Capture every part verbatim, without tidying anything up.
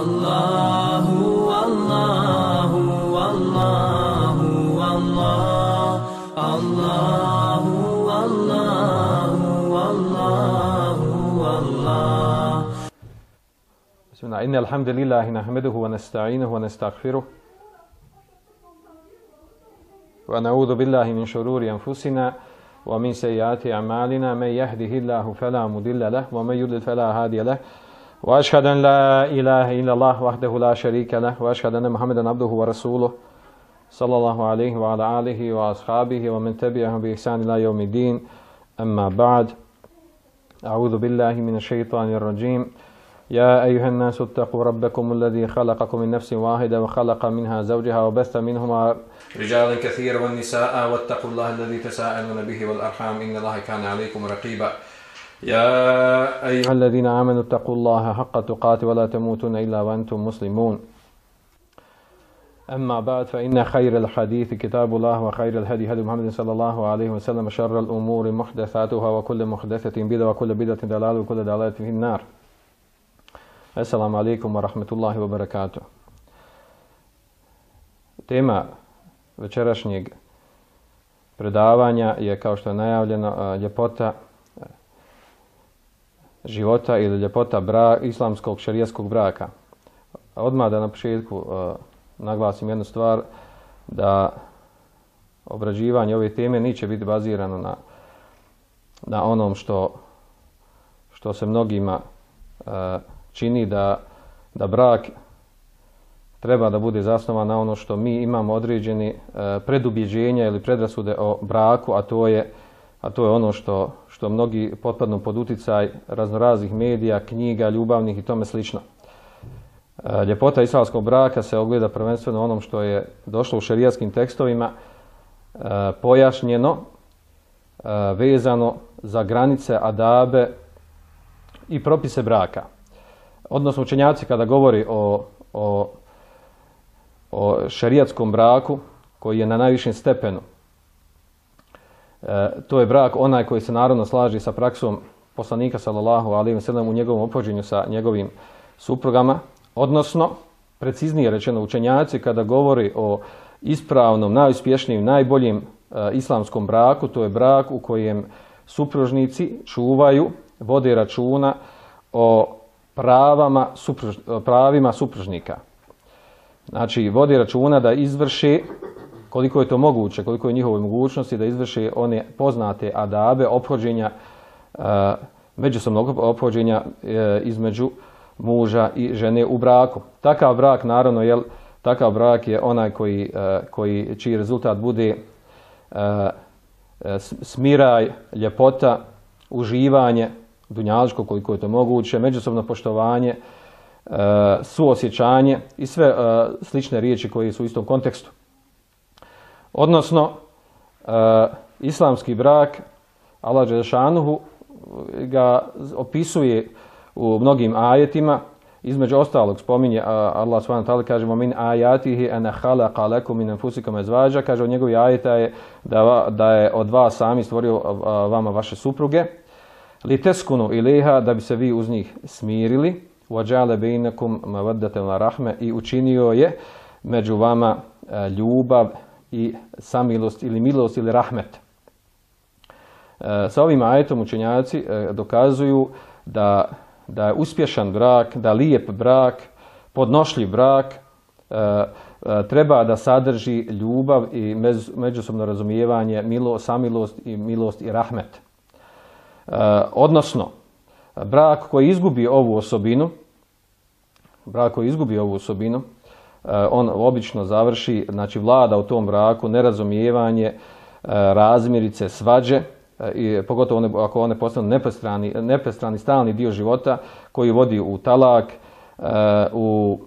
Allahu, Allahu, Allahu, Allah, Allahu, Allahu, Allahu, Allah. Bismillah, inna alhamdulillahi nahmeduhu wa nasta'inuhu wa nastaghfiruh wa na'udhu billahi min shururi anfusina wa min sayyiati a'malina man yahdihillahu fala mudilla lahu wa man yudlil fala hadiya lahu wa ashhadu an la ilaha illa Allah wahdahu la sharika lahu wa ashhadu anna Muhammadan abduhu wa rasuluhu sallallahu alayhi wa ala alihi wa ashabihi wa man tabi'ahum bi ihsan ila yawmiddin. Amma ba'd. A'udhu billahi minash shaitanir rajim. يا أيها الناس اتقوا ربكم الذي خلقكم من نفس واحدة وخلق منها زوجها وبث منهما رجالا كثيرا والنساء واتقوا الله الذي تساءلون به والأرحام إن الله كان عليكم رقيبا يا أيها الذين آمنوا اتقوا الله حق تقاته ولا تموتن إلا وأنتم مسلمون. أما بعد فإن خير الحديث كتاب الله وخير الهدي هدي محمد صلى الله عليه وسلم شر الأمور محدثاتها وكل محدثة بدعة وكل بدعة ضلالة وكل ضلالة في النار. Assalamu alaikum wa rahmatullahi wa barakatuh. Tema večerašnjeg predavanja je, kao što je najavljeno, ljepota života ili ljepota bra, islamskog šerijatskog braka. Odmah da na početku uh, naglasim jednu stvar, da obrađivanje ove teme neće biti bazirano na, na onom što, što se mnogima uh, čini da, da brak treba da bude zasnovan na ono što mi imamo određeni e, predubjeđenja ili predrasude o braku, a to je, a to je ono što, što mnogi potpadnu pod uticaj raznoraznih medija, knjiga, ljubavnih i tome slično. E, ljepota islamskog braka se ogleda prvenstveno onom što je došlo u šerijatskim tekstovima e, pojašnjeno, e, vezano za granice, adabe i propise braka. Odnosno učenjaci kada govori o, o, o šerijatskom braku koji je na najvišem stepenu, e, to je brak onaj koji se naravno slaži sa praksom poslanika sallallahu alejhi ve sellem u njegovom ophođenju sa njegovim suprugama, odnosno preciznije rečeno učenjaci kada govori o ispravnom, najuspješnijem, najboljem e, islamskom braku, to je brak u kojem supružnici čuvaju, vode računa o pravama supruž, pravima supružnika. Znači, vodi računa da izvrše, koliko je to moguće, koliko je njihovoj mogućnosti, da izvrše one poznate adabe, ophođenja, e, međusobnog ophođenja e, između muža i žene u braku. Takav brak, naravno, jel, takav brak je onaj koji, e, koji čiji rezultat bude e, smiraj, ljepota, uživanje, dunjaličko koliko je to moguće, međusobno poštovanje, e, suosjećanje i sve e, slične riječi koje su u istom kontekstu. Odnosno, e, islamski brak, Allah dželešanuhu ga opisuje u mnogim ajetima, između ostalog spominje Allah subhanahu wa ta'ala, kaže min ayatihi an khalaqa lakum min anfusikum azwaja, kaže od njegovih ajeta je da, da je od vas sami stvorio vama vaše supruge, li teskunu ileha, da bi se vi uz njih smirili, وَجَعَلَ بَيْنَكُمْ مَوَدَّةً وَرَحْمَةً, i učinio je među vama ljubav i samilost ili milost ili rahmet. Sa ovim ajetom učenjaci dokazuju da, da je uspješan brak, da lijep brak, podnošljiv brak treba da sadrži ljubav i međusobno razumijevanje, milo, samilost i milost i rahmet. Uh, odnosno, brak koji izgubi ovu osobinu, brak koji izgubi ovu osobinu, uh, on obično završi, znači vlada u tom braku nerazumijevanje, uh, razmirice, svađe, uh, i pogotovo one, ako one postanu neprestrani, neprestrani stalni dio života koji vodi u talak, uh, u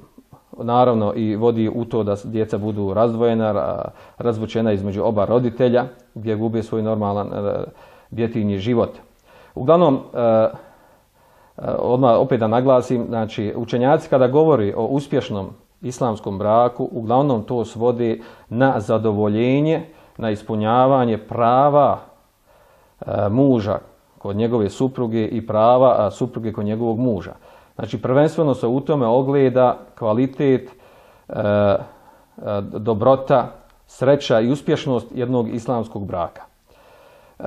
naravno i vodi u to da djeca budu razdvojena, razvučena između oba roditelja, gdje gube svoj normalan uh, djetinji život. Uglavnom, eh, odmah opet da naglasim, znači učenjaci kada govori o uspješnom islamskom braku, uglavnom to svodi na zadovoljenje, na ispunjavanje prava e, muža kod njegove supruge i prava a, supruge kod njegovog muža. Znači, prvenstveno se u tome ogleda kvalitet, e, e, dobrota, sreća i uspješnost jednog islamskog braka. E,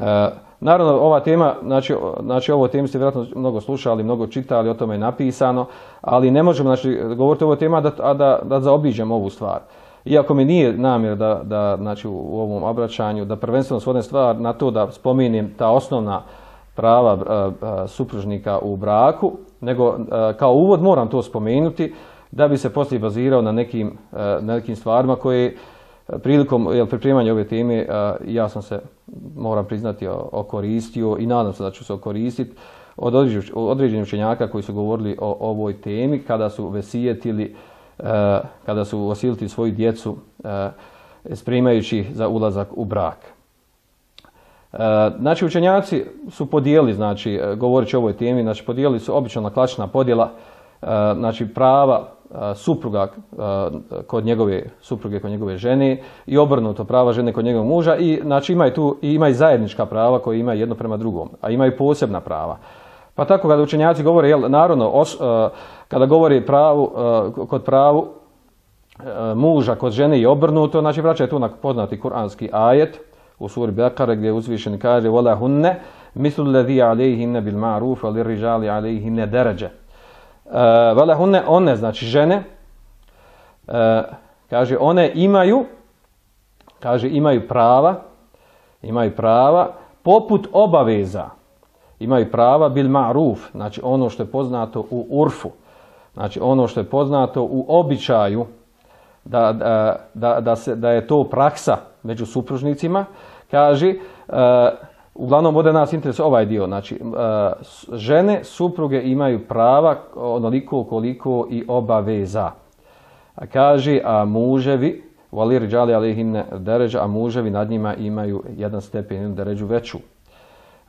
naravno, ova tema, znači, znači ovo temi ste vjerojatno mnogo slušali, mnogo čitali, o tome je napisano, ali ne možemo znači, govoriti o ovoj temi, a da, a da, da zaobiđemo ovu stvar. Iako mi nije namjer da, da znači, u ovom obraćanju, da prvenstveno svodem stvar na to da spomenem ta osnovna prava a, a, supružnika u braku, nego a, kao uvod moram to spomenuti da bi se poslije bazirao na nekim, a, na nekim stvarima koje prilikom jel, pripremanja ove teme a, ja sam se, moram priznati, okoristio i nadam se da ću se okoristiti od određenih učenjaka koji su govorili o ovoj temi kada su vesijetili, a, kada su osiliti svoju djecu a, spremajući za ulazak u brak. A, znači učenjaci su podijelili, znači govoreći o ovoj temi, znači podijelili su obično na klasična podjela, a, znači prava supruga kod njegove supruge, kod njegove žene i obrnuto prava žene kod njegovog muža i znači imaju tu i imaju zajednička prava koje imaju jedno prema drugom, a imaju posebna prava. Pa tako kada učenjaci govore, jel, naravno, os, kada govori pravu, kod pravu muža kod žene i obrnuto, znači vraćaju tu na poznati kuranski ajet u suri Bekare gdje uzvišeni kaže wala hunne mislu alladhi alayhinna bil ma'ruf wa lirrijali alayhinna daraja. Vele uh, one, one, znači žene, uh, kaže, one imaju, kaže, imaju prava, imaju prava, poput obaveza, imaju prava bil ma'ruf, znači ono što je poznato u urfu, znači ono što je poznato u običaju, da, da, da, da, se, da je to praksa među supružnicima, kaže, uh, uglavnom ovdje nas interesuje ovaj dio, znači žene, supruge imaju prava onoliko koliko i obaveza. A kaže, a muževi, valir džali alejhinne deređa, a muževi nad njima imaju jedan stepen, jednu deređu veću.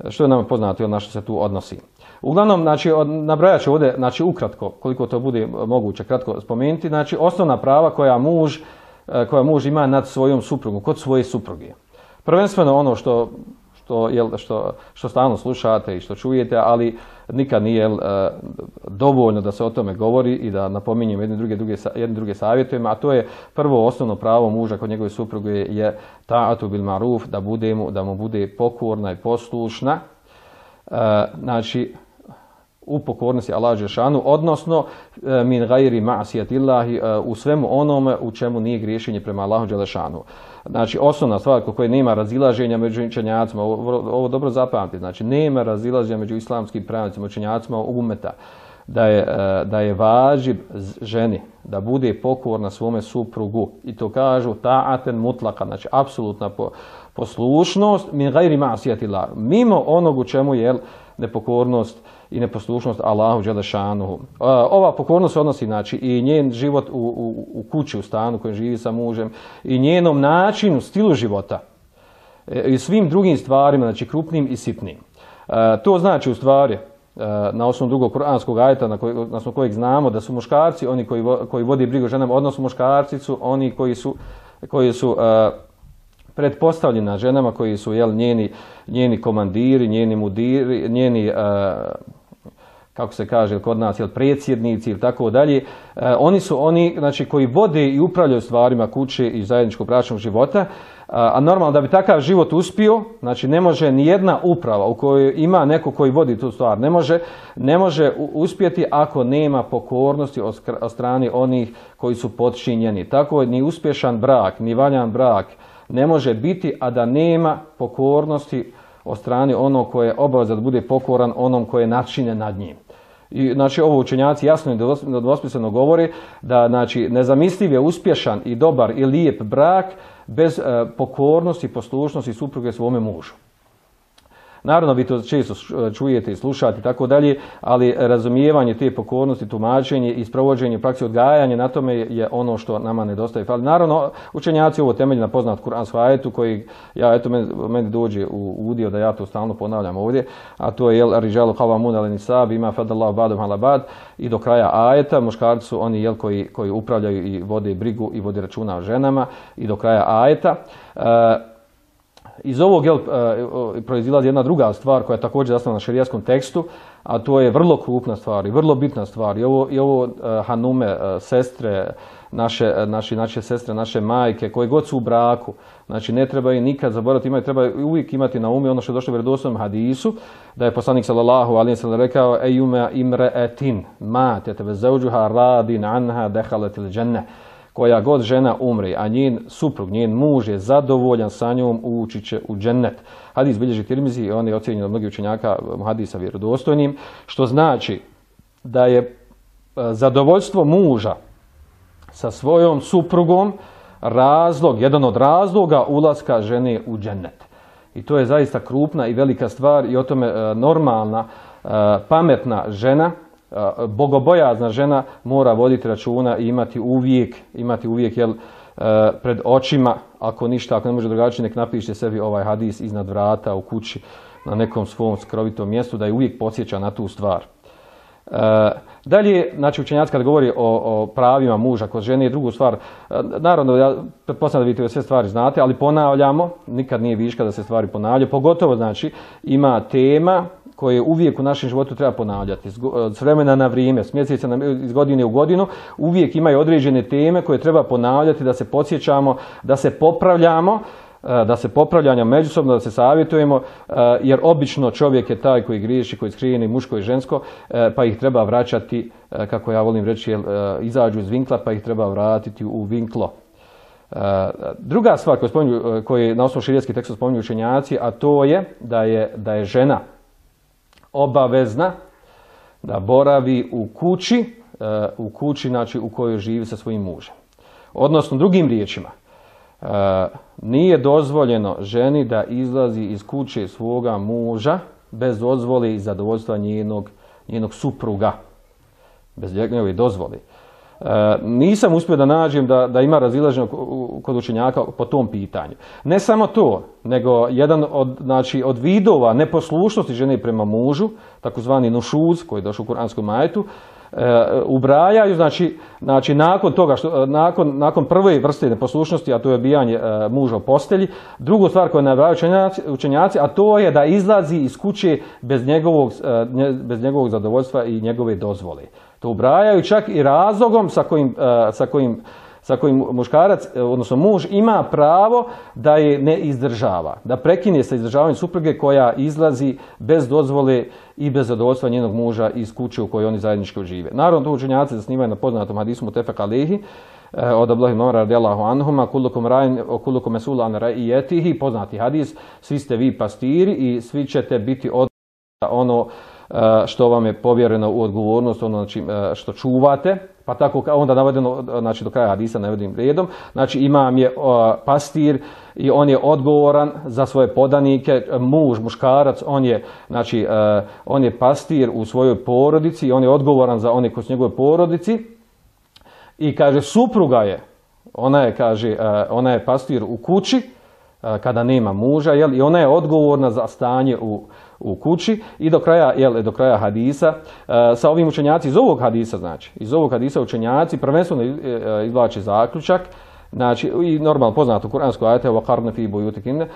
Što je nam poznato, na što se tu odnosi. Uglavnom, znači, nabrajat ću ovdje, znači, ukratko, koliko to bude moguće kratko spomenuti, znači, osnovna prava koja muž, koja muž ima nad svojom suprugom, kod svoje supruge. Prvenstveno ono što Što, jel, što, što stalno slušate i što čujete, ali nikad nije jel, dovoljno da se o tome govori i da napominjem jedne druge, druge, jedne druge savjetujemo, a to je prvo osnovno pravo muža kod njegove supruge je ta'atu bil ma'ruf, da, bude mu, da mu bude pokorna i poslušna, e, znači u pokornosti Allahu dželešanu, odnosno min gajri ma'sijatillahi, u svemu onome u čemu nije griješenje prema Allahu dželešanu. Znači, osnovna stvar kod koje nema razilaženja među učenjacima, ovo, ovo dobro zapamtite, znači nema razilaženja među islamskim pravnicima, učenjacima umeta, da je, da je važib ženi da bude pokorna svome suprugu i to kažu ta'aten mutlaka, znači apsolutna poslušnost min gajri ma'sijatillahi, mimo onog u čemu je nepokornost i neposlušnost Allahu dželešanuhu. Ova pokornost se odnosi, znači, i njen život u, u, u kući, u stanu kojem živi sa mužem, i njenom načinu, stilu života, i svim drugim stvarima, znači krupnim i sitnim. To znači u stvari, na osnovu drugog kuranskog ajeta, na, koj, na osnovu kojeg znamo da su muškarci oni koji, koji vodi brigu o ženama, odnosno muškarci su oni koji su, koji su pretpostavljeni na ženama, koji su jel, njeni, njeni komandiri, njeni mudiri, njeni, uh, kako se kaže kod nas, jel, predsjednici ili tako dalje. Uh, oni su oni, znači, koji vode i upravljaju stvarima kuće i zajedničkog bračnog života, uh, a normalno da bi takav život uspio, znači ne može ni jedna uprava u kojoj ima neko koji vodi tu stvar, ne može, ne može uspjeti ako nema pokornosti od strane onih koji su podčinjeni. Tako ni uspješan brak, ni valjan brak ne može biti, a da nema pokornosti od strane onog koje je obaveza da bude pokoran onom koje je načinjen nad njim. I, znači, ovo učenjaci jasno i nedvosmisleno govore da, znači, nezamisliv je uspješan i dobar i lijep brak bez e, pokornosti i poslušnosti supruge svome mužu. Naravno, vi to često čujete i slušate i tako dalje, ali razumijevanje te pokornosti, tumačenje i sprovođenje praksi odgajanja na tome je ono što nama nedostaje. Ali naravno, učenjaci ovo temelji na poznat kuranskom ajetu koji, ja, eto, meni, meni dođe u udio da ja to stalno ponavljam ovdje, a to je, jel, riđalu qavamun ala nisa bima fadallahu ba'dahum ala ba'd, i do kraja ajeta, muškarci su oni, jel, koji, koji upravljaju i vode brigu i vode računa o ženama, i do kraja ajeta. Uh, Iz ovog jel, proizilazi jedna druga stvar koja je također zasnovana na šerijaskom tekstu, a to je vrlo krupna stvar i vrlo bitna stvar. I ovo, i ovo uh, hanume, uh, sestre, naše, naši, naše sestre, naše majke, koje god su u braku, znači ne treba i nikad zaboraviti, imaju, treba uvijek imati na umu ono što je došlo u vjerodostojnom hadisu, da je poslanik sallallahu alejhi ve sellem rekao: "Ejume imra'atin matat wa zawjuha radin anha dakhalat al-dženne." Koja god žena umri, a njen suprug, njen muž je zadovoljan sa njom, ući će u džennet. Hadis bilježi Tirmizi i on je ocjenjen od mnogih učenjaka hadisa vjerodostojnim, što znači da je zadovoljstvo muža sa svojom suprugom razlog, jedan od razloga ulaska žene u džennet. I to je zaista krupna i velika stvar i o tome normalna, pametna žena, bogobojazna žena mora voditi računa i imati uvijek, imati uvijek jel, pred očima, ako ništa, ako ne može drugačije, nek napiše sebi ovaj hadis iznad vrata u kući na nekom svom skrovitom mjestu, da je uvijek podsjeća na tu stvar. E, dalje, znači učenjaci kad govori o, o pravima muža kod žene je drugu stvar. E, naravno, ja pretpostavljam da vi sve stvari znate, ali ponavljamo, nikad nije viška da se stvari ponavljaju, pogotovo znači ima tema koje uvijek u našem životu treba ponavljati. S vremena na vrijeme, s mjeseca na, iz godine u godinu, uvijek imaju određene teme koje treba ponavljati, da se podsjećamo, da se popravljamo, da se popravljamo međusobno, da se savjetujemo, jer obično čovjek je taj koji griješi, koji skrijeni muško i žensko, pa ih treba vraćati, kako ja volim reći, izađu iz vinkla, pa ih treba vratiti u vinklo. Druga stvar koju, spominju, koju na osnovu širijatskih teksta spominju učenjaci, a to je da je, da je žena obavezna da boravi u kući, u kući znači u kojoj živi sa svojim mužem. Odnosno, drugim riječima, nije dozvoljeno ženi da izlazi iz kuće svoga muža bez dozvole i zadovoljstva njenog, njenog supruga. Bez njegove dozvole. Nisam uspio da nađem da, da ima razilaženje kod učenjaka po tom pitanju. Ne samo to, nego jedan od, znači, od vidova neposlušnosti žene prema mužu, takozvani nušuz, koji je došao u kuranskom ajetu, e, ubrajaju, znači, znači nakon toga, što, nakon, nakon prve vrste neposlušnosti, a to je obijanje e, muža u postelji, drugu stvar koju nabrajaju učenjaci, učenjaci, a to je da izlazi iz kuće bez njegovog, e, bez njegovog zadovoljstva i njegove dozvole. To ubrajaju čak i razlogom sa kojim, sa kojim, sa kojim muškarac, odnosno muž, ima pravo da je ne izdržava. Da prekine sa izdržavanjem supruge koja izlazi bez dozvole i bez zadovoljstva njenog muža iz kuće u kojoj oni zajednički žive. Naravno, to učenjaci zasnivaju na poznatom hadisu Mutefek alejhi od Abdullah ibn Umar radijallahu anhuma, kullukum ra'in wa kullukum mas'ulun an ra'iyatihi, poznati hadis, svi ste vi pastiri i svi ćete biti od ono što vam je povjereno u odgovornost, ono znači što čuvate, pa tako onda navedeno, znači do kraja hadisa navedim redom, znači imam je pastir i on je odgovoran za svoje podanike, muž, muškarac, on je, znači, on je pastir u svojoj porodici i on je odgovoran za one koji su njegove porodici i kaže supruga je, ona je, kaže, ona je pastir u kući kada nema muža, jel, i ona je odgovorna za stanje u u kući i do kraja, jel, do kraja hadisa. E, sa ovim učenjaci iz ovog hadisa, znači, iz ovog hadisa učenjaci prvenstveno izvlače zaključak, znači, i normalno poznato kuransko ajete وَقَرْنَ فِي بُيُوتِكُنَّ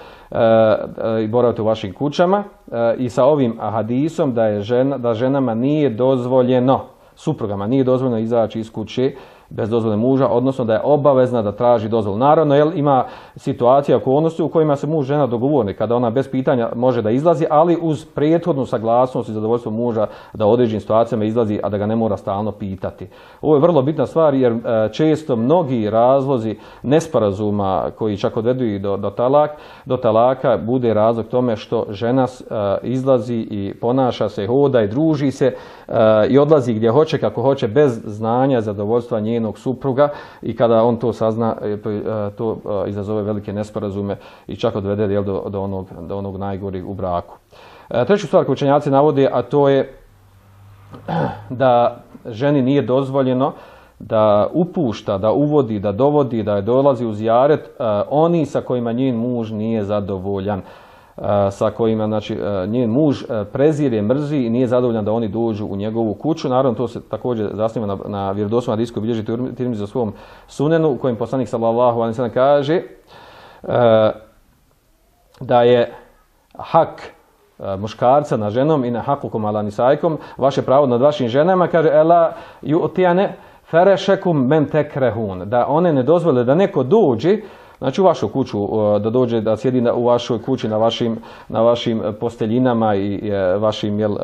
i boravite u vašim kućama e, i sa ovim hadisom da je žena, da ženama nije dozvoljeno, suprugama nije dozvoljeno izaći iz kuće bez dozvole muža, odnosno da je obavezna da traži dozvolu. Naravno, jel, ima situacija, okolnosti u kojima se muž žena dogovore, kada ona bez pitanja može da izlazi, ali uz prethodnu saglasnost i zadovoljstvo muža da u određenim situacijama izlazi, a da ga ne mora stalno pitati. Ovo je vrlo bitna stvar jer e, često mnogi razlozi nesporazuma koji čak odvedu i do, do, talak, do talaka bude razlog tome što žena e, izlazi i ponaša se, hoda i druži se e, i odlazi gdje hoće, kako hoće, bez znanja, zadovoljstva njenog supruga i kada on to sazna, to izazove velike nesporazume i čak odvede, jel, do, do, onog, do onog najgorih u braku. Treću stvar koju učenjaci navode, a to je da ženi nije dozvoljeno da upušta, da uvodi, da dovodi, da je dolazi u zijaret oni sa kojima njen muž nije zadovoljan, sa kojima, znači, njen muž prezire, mrzi i nije zadovoljan da oni dođu u njegovu kuću. Naravno, to se također zasniva na, na vjerodostojnom hadisu koji bilježi Tirmizi za svom sunenu, u kojem poslanik sallallahu alejhi ve sellem kaže da je hak muškarca na ženom i na hakukum ala nisajkom, vaše pravo nad vašim ženama, kaže ela yu'tiyane ferešekum men tekrehun, da one ne dozvole da neko dođe, znači u vašu kuću, da dođe da sjedi u vašoj kući na vašim, na vašim posteljinama i vašim jel,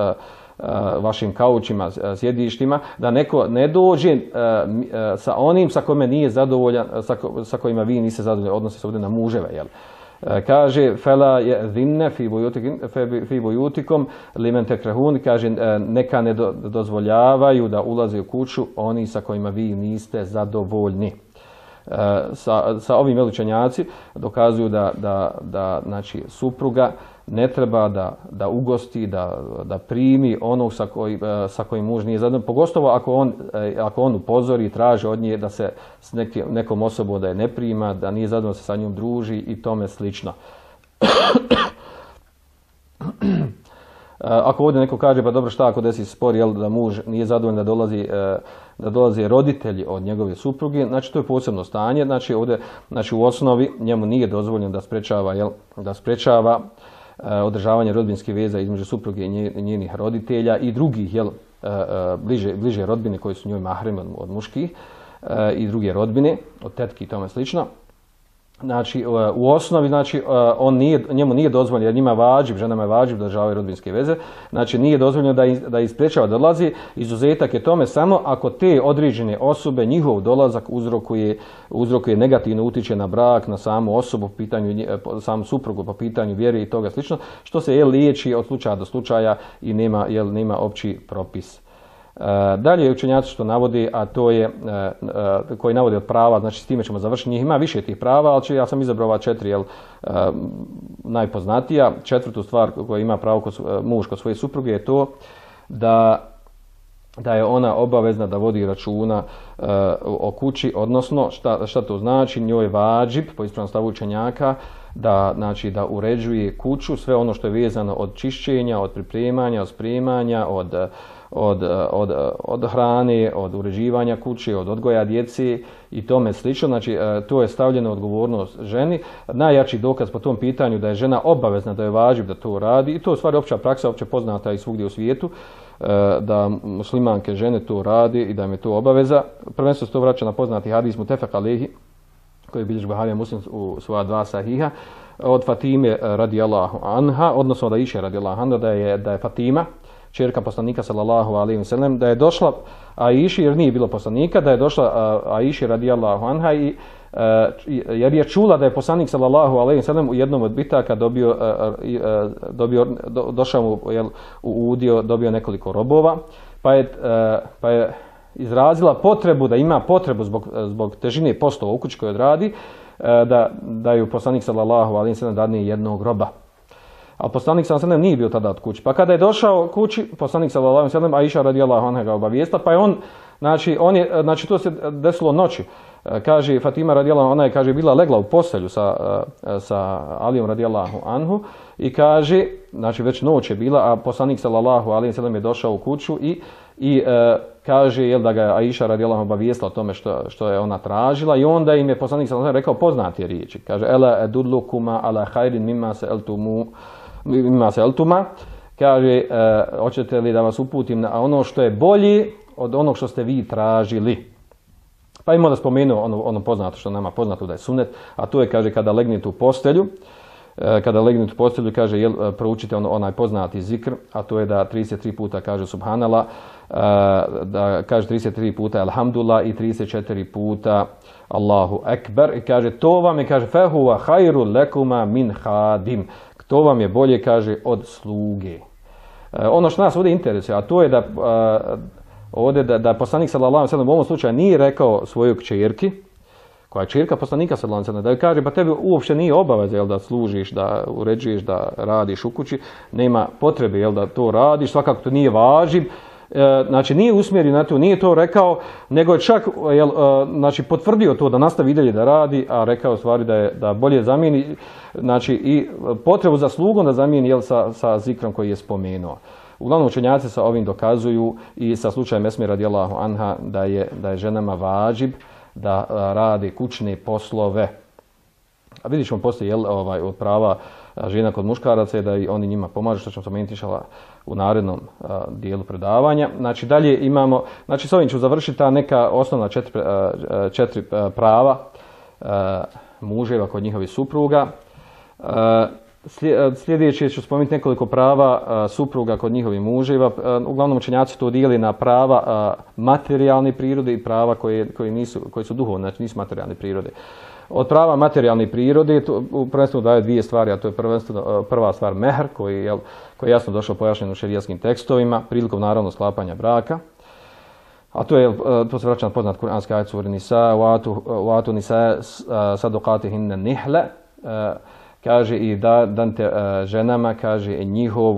vašim kaučima, sjedištima, da neko ne dođe sa onim sa kojima nije zadovoljan, sa, ko, sa kojima vi niste zadovoljni, odnosi se ovdje na muževe, jel? Kaže fela je zinne fi bujutikom limen tekrehun, kaže neka ne do, dozvoljavaju da ulaze u kuću oni sa kojima vi niste zadovoljni. Sa, sa ovim veličanjaci dokazuju da, da, da znači, supruga ne treba da, da ugosti, da, da primi onog sa, koji, sa kojim muž nije zadovoljan, pogotovo ako on, ako on upozori i traži od nje da se s nekim, nekom osobom da je ne prima, da nije zadovoljan se sa njom druži i tome slično. Ako ovdje neko kaže, pa dobro, šta ako desi spor, jel, da muž nije zadovoljan da dolazi, da dolaze roditelji od njegove supruge, znači to je posebno stanje, znači ovdje, znači u osnovi njemu nije dozvoljeno da sprečava, jel, da sprečava održavanje rodbinskih veza između supruge i njenih roditelja i drugih, jel, bliže, bliže rodbine koji su njoj mahremi od, od muških i druge rodbine, od tetki i tome slično. Znači, u osnovi, znači, on nije, njemu nije dozvoljeno, jer njima vađib, ženama je vađib da održavaju rodbinske veze, znači nije dozvoljeno da, iz, da isprečava da dolazi, izuzetak je tome samo ako te određene osobe, njihov dolazak uzrokuje, uzrokuje negativno utiče na brak, na samu osobu, po pitanju, samu suprugu, po pitanju vjere i toga slično, što se je liječi od slučaja do slučaja i nema, jel, nema opći propis. Dalje učenjaci što navodi, a to je koji navodi od prava, znači s time ćemo završiti, njih ima više tih prava, ali ja sam izabrao ova četiri, jel, najpoznatija. Četvrtu stvar koja ima pravo kod, muž kod svoje supruge je to da, da je ona obavezna da vodi računa o kući, odnosno šta, šta to znači, njoj je vađib, po ispravnom stavu učenjaka, da, znači, da uređuje kuću, sve ono što je vezano od čišćenja, od pripremanja, od spremanja, od Od, od, od hrane, od uređivanja kuće, od odgoja djece i tome slično. Znači, to je stavljeno odgovornost ženi. Najjači dokaz po tom pitanju da je žena obavezna, da je važib da to radi, i to je stvari opća praksa, opće poznata i svugdje u svijetu, da muslimanke žene to radi i da im je to obaveza. Prvenstveno se to vraća na poznati hadis mutefek alejhi, koji bilježi Buharija Muslim u svoja dva sahiha, od Fatime radijallahu anha, odnosno da iše radijallahu anha, da je, da je Fatima, čerka poslanika sallallahu alejhi ve sellem, da je došla Aiši, jer nije bilo poslanika, da je došla Aiši radijallahu anha i jer je čula da je poslanik sallallahu alejhi ve sellem u jednom od bitaka dobio, dobio do, došao mu, jel, u udio, dobio nekoliko robova, pa je, pa je izrazila potrebu, da ima potrebu zbog, zbog težine poslova u kući koju odradi, da, da ju poslanik sallallahu alejhi ve sellem dadne jednog roba. A poslanik sallallahu alejhi ve sellem nije bio tada od kući. Pa kada je došao kući, poslanik sallallahu alejhi ve sellem, Aiša radijallahu anha ga obavijesta, pa je on, znači, on je, znači to se desilo noći. Kaže Fatima radijallahu anha, kaže bila legla u postelju sa, sa Alijom radijallahu anhu i kaže, znači već noć je bila, a poslanik sallallahu alejhi ve sellem je došao u kuću i i e, kaže, jel, da ga je Aiša radijallahu anha obavijestila o tome što, što je ona tražila, i onda im je poslanik sallallahu alejhi ve sellem rekao poznate riječi. Kaže ela edullukuma ala khairin mimma sa'altumu mimma sa'altuma, kaže e, hoćete li da vas uputim na ono što je bolje od onog što ste vi tražili. Pa im onda spomenuo ono, ono poznato što nama poznato da je sunnet, a to je, kaže, kada legnete u postelju, e, kada legnete u postelju, kaže, jel, proučite on, onaj poznati zikr, a to je da trideset tri puta kaže subhanallah, e, da kaže trideset tri puta alhamdulillah i trideset četiri puta Allahu ekber, i kaže to vam je, kaže, fehuva hajru lekuma min hadim, to vam je bolje, kaže, od sluge. E, ono što nas ovdje interesuje, a to je da a, ovdje da, da poslanik sallallahu alejhi ve sellem u ovom slučaju nije rekao svojoj kćerki, koja je kćerka poslanika sallallahu alejhi ve sellem, da joj kaže pa tebi uopšte nije obaveza, jel, da služiš, da uređuješ, da radiš u kući, nema potrebe, jel, da to radiš, svakako to nije važib. E, znači nije usmjerio na to, nije to rekao, nego je čak, jel, znači, potvrdio to da nastavi dalje da radi, a rekao stvari da je da bolje zamijeni, znači, i potrebu za slugom da zamijeni, jel, sa, sa zikrom koji je spomenuo. Uglavnom učenjaci sa ovim dokazuju i sa slučajem Esme radijallahu anha da je, da je ženama vađib da rade kućne poslove. A vidjet ćemo poslije, jel, ovaj, od prava žena kod muškaraca je da i oni njima pomažu, što ćemo spomenuti inšallah u narednom a, dijelu predavanja. Znači dalje imamo, znači s ovim ću završiti ta neka osnovna četiri, a, četiri a, prava a, muževa kod njihovih supruga. A, sljedeće ću spomenuti nekoliko prava a, supruga kod njihovih muževa. A, uglavnom učenjaci to dijeli na prava a, materijalne prirode i prava koje, koje, nisu, koje su duhovne, znači nisu materijalne prirode. Od prava materijalne prirode prvenstveno daju dvije stvari, a to je prvenstveno prva stvar mehr, koji je, koji je jasno došao pojašnjen u šerijskim tekstovima prilikom naravno sklapanja braka. A to je, to se vraća na poznat kuranski ajet suri Nisa, wa atu nisa sadaqatihinna nihle, kaže i da dante ženama, kaže njihov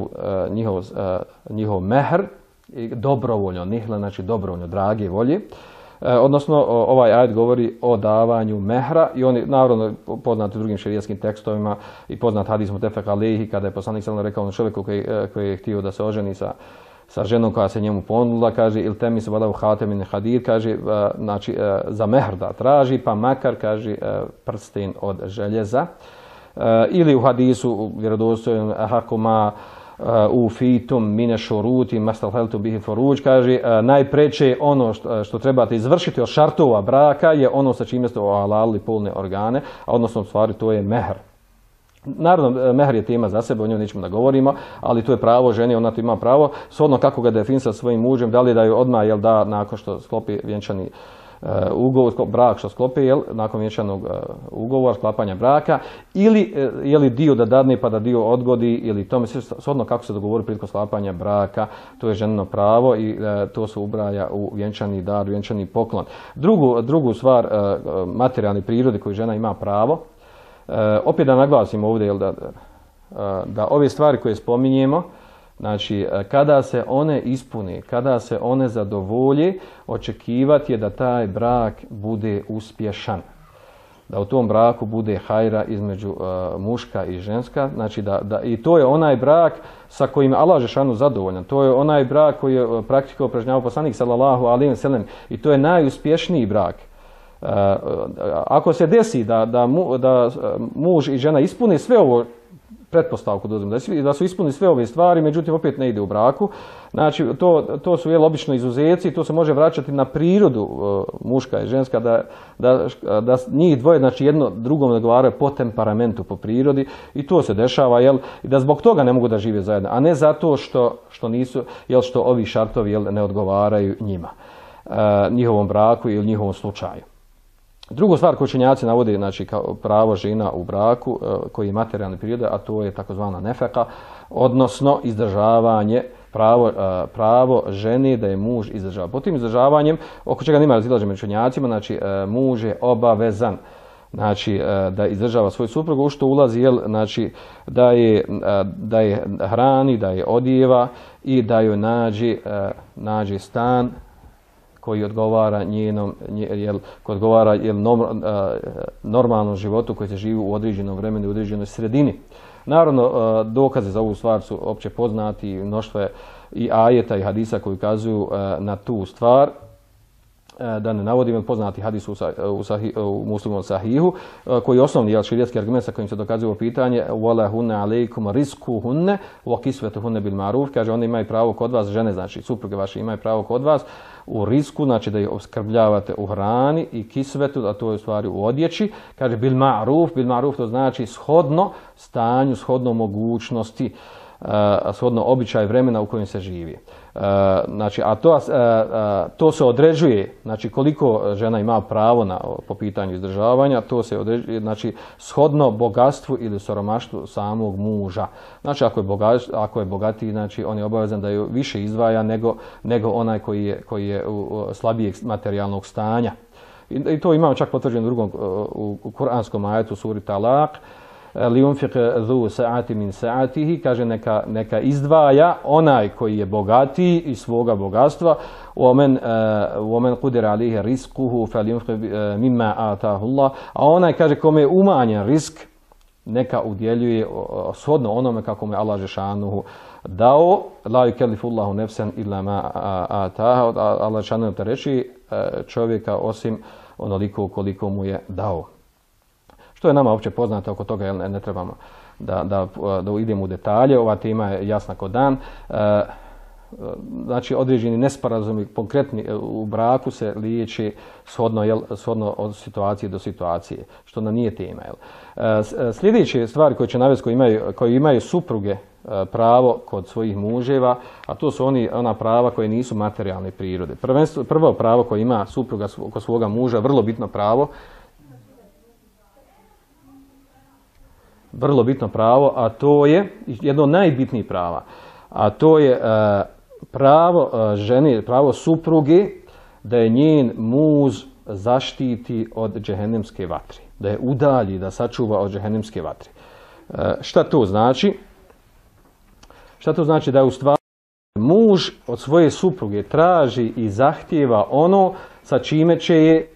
njihov njihov mehr dobrovoljno, nihle znači dobrovoljno, drage volje. E, odnosno ovaj ajet govori o davanju mehra i on je naravno poznat u drugim šerijskim tekstovima i poznat hadis mutefek alejhi kada je poslanik sallallahu rekao na čovjeku koji, koji je htio da se oženi sa sa ženom koja se njemu ponudila, kaže il temis walau khatamin hadid, kaže znači za mehr da traži, pa makar kaže prsten od željeza. E, ili u hadisu vjerodostojnom hakuma u fitum mine šuruti mastalheltu bihi foruđ, kaže najpreče ono što, što trebate izvršiti od šartova braka je ono sa čime ste ohalalili polne organe, a odnosno u stvari to je mehr. Naravno, mehr je tema za sebe, o njoj nećemo da govorimo, ali to je pravo žene, ona to ima pravo, shodno kako ga definira sa svojim mužem, da li da ju odmah, jel da, nakon što sklopi vjenčani Uh, ugovor, brak što sklopi, jel, nakon vjenčanog uh, ugovora, sklapanja braka, ili uh, je li dio da dadne pa da dio odgodi, ili tome sve shodno kako se dogovori prilikom sklapanja braka, to je ženino pravo i uh, to se ubraja u vjenčani dar, vjenčani poklon. Drugu, drugu stvar uh, materijalne prirode koju žena ima pravo, uh, opet da naglasimo ovdje, jel, da, uh, da ove stvari koje spominjemo, znači, kada se one ispune, kada se one zadovolje, očekivati je da taj brak bude uspješan. Da u tom braku bude hajra između uh, muška i ženska. Znači da, da, i to je onaj brak sa kojim Allah dželešanu zadovoljan. To je onaj brak koji je praktično upražnjavao poslanik sallallahu alejhi ve sellem i to je najuspješniji brak. Uh, ako se desi da, da, mu, da muž i žena ispune sve ovo, pretpostavku da, da su ispunili sve ove stvari, međutim opet ne ide u braku. Znači to, to su jel, obično izuzeci, to se može vraćati na prirodu uh, muška i ženska, da, da, da njih dvoje znači jedno drugom odgovaraju po temperamentu, po prirodi i to se dešava, jel, i da zbog toga ne mogu da žive zajedno, a ne zato što, što, nisu, jel, što ovi šartovi jel, ne odgovaraju njima, uh, njihovom braku ili njihovom slučaju. Drugu stvar koju učenjaci navode, znači kao pravo žena u braku koji je materijalne prirode, a to je takozvana nefeka, odnosno izdržavanje, pravo, pravo žene da je muž izdržava. Po tim izdržavanjem, oko čega nema razilaženja među učenjacima, znači muž je obavezan, znači da izdržava svoju suprugu, u što ulazi, jel, znači da je, da je hrani, da je odijeva i da joj nađe, nađe stan koji odgovara njenom, jel, koji odgovara jel, normalnom životu koji se živi u određenom vremenu, u određenoj sredini. Naravno, dokaze za ovu stvar su opće poznati, mnoštvo i ajeta i hadisa koji ukazuju na tu stvar. Da ne navodim poznati hadis u, u, sahi, u muslimom sahihu, koji je osnovni jel, širijetski argument sa kojim se dokazuje ovo pitanje wala hunne alejkum rizkuhunne wa kisvetuhunne bil ma'ruf, kaže oni imaju pravo kod vas, žene znači supruge vaše imaju pravo kod vas u risku, znači da ih oskrbljavate u hrani i kisvetu, a to je u stvari u odjeći, kaže bil ma'ruf, bil ma'ruf to znači shodno stanju, shodno mogućnosti, Uh, shodno običaj vremena u kojem se živi. Uh, znači, a to, uh, uh, to se određuje, znači koliko žena ima pravo na, po pitanju izdržavanja, to se određuje, znači shodno bogatstvu ili siromaštvu samog muža. Znači, ako je, bogat, ako je bogatiji, znači on je obavezan da ju više izdvaja nego, nego onaj koji je, koji je u, u slabijeg materijalnog stanja. I, i to imamo čak potvrđeno u drugom, u, u kuranskom ajetu suri Talak, liunfiq zu sa'ati min sa'atihi, kaže neka, neka izdvaja onaj koji je bogatiji iz svoga bogatstva, omen omen qudira alayhi rizquhu falyunfiq mimma ataahu Allah, a onaj kaže kome je umanjen risk neka udjeljuje shodno onome kako mu je Allah dželešanu dao, la yukallifu Allahu nafsan illa ma ataaha, Allah dželešanu te reči čovjeka osim onoliko koliko mu je dao. Što je nama uopće poznato, oko toga ne, ne trebamo da, da, da idemo u detalje, ova tema je jasna ko dan. E, znači određeni nesporazumi konkretni u braku se liječi shodno, jel, shodno od situacije do situacije, što nam nije tema. Jel. E, sljedeće stvari koje će navesti koji imaju, koji imaju supruge pravo kod svojih muževa, a to su oni, ona prava koje nisu materijalne prirode. Prvenstvo, prvo pravo koje ima supruga kod svoga muža, vrlo bitno pravo, vrlo bitno pravo, a to je jedno od najbitnijih prava, a to je e, pravo e, žene, pravo supruge da je njen muž zaštiti od džehennemske vatre, da je udalji, da sačuva od džehennemske vatre. E, šta to znači? Šta to znači? Da je u stvari muž od svoje supruge traži i zahtijeva ono sa čime će je e,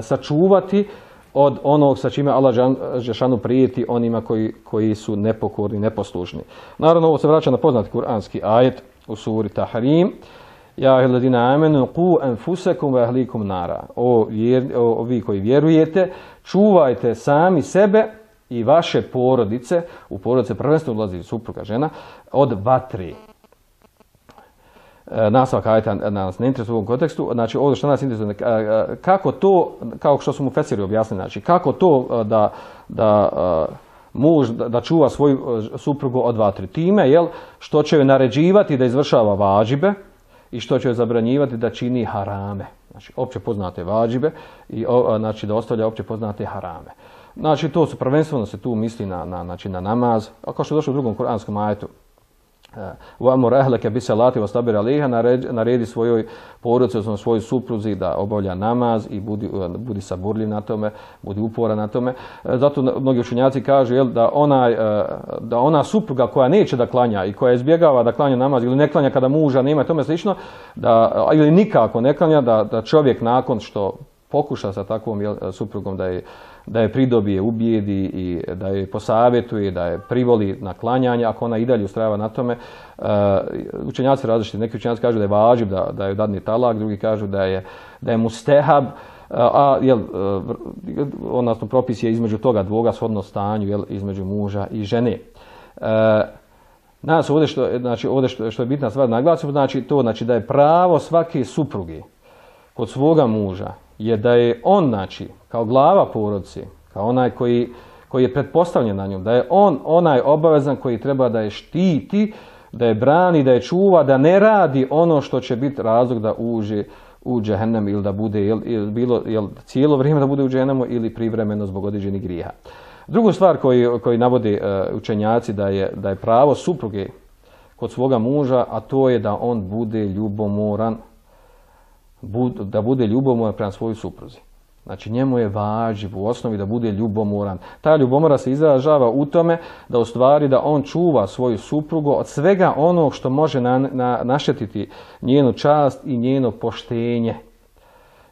sačuvati od onog sa čime Allah dželešanu prijeti onima koji, koji su nepokorni, neposlušni. Naravno, ovo se vraća na poznati kuranski ajet u suri Tahrim. Ja ayyuhalladhina amanu qu anfusakum wa ahlikum nara. O, vjer, o vi koji vjerujete, čuvajte sami sebe i vaše porodice, u porodice prvenstveno ulazi supruga, žena, od vatre. Nastavak ajeta nas ne interesuje u ovom kontekstu, znači ovdje što nas interesuje, kako to, kao što su mu Fesiri objasnili, znači kako to da, da muž da čuva svoju suprugu od vatre, time jel, što će joj naređivati da izvršava vađibe i što će joj zabranjivati da čini harame, znači opće poznate vađibe i znači da ostavlja opće poznate harame. Znači to su prvenstveno se tu misli na, na, znači, na namaz, a kao što je došlo u drugom kuranskom ajetu, وَأَمُرْ أَهْلَكَ بِسَلَاتِ وَاسْتَبِرْ عَلَيْهَا, naredi svojoj porodici, odnosno svojoj supruzi da obavlja namaz i budi, budi saburljiv na tome, budi uporan na tome. Zato mnogi učenjaci kažu jel, da, ona, da ona supruga koja neće da klanja i koja izbjegava da klanja namaz ili ne klanja kada muža nema i tome slično, da, ili nikako ne klanja, da, da čovjek nakon što pokuša sa takvom jel, suprugom da je da je pridobije, ubijedi i da je posavjetuje, da je privoli na klanjanje, ako ona i dalje ustrajava na tome. Uh, učenjaci različiti, neki učenjaci kažu da je vađib, da, da je dadni talak, drugi kažu da je, da je mustehab, uh, a jel, uh, odnosno propis je između toga dvoga shodno stanju, jel, između muža i žene. Uh, nas ovdje što, znači, ovdje što, što je bitna stvar naglasiti, znači to znači da je pravo svake supruge kod svoga muža je da je on, znači, kao glava porodice, kao onaj koji, koji je pretpostavljen na njom, da je on onaj obavezan koji treba da je štiti, da je brani, da je čuva, da ne radi ono što će biti razlog da uđe u džehennem ili da bude, jel, jel, bilo, jel, cijelo vrijeme da bude u džehennemu ili privremeno zbog određenih grijeha. Drugu stvar koju, koju navode uh, učenjaci da je, da je pravo supruge kod svoga muža, a to je da on bude ljubomoran, da bude ljubomoran prema svojoj supruzi. Znači njemu je važib u osnovi da bude ljubomoran. Ta ljubomora se izražava u tome da u stvari da on čuva svoju suprugu od svega onog što može na, na, naštetiti njenu čast i njeno poštenje.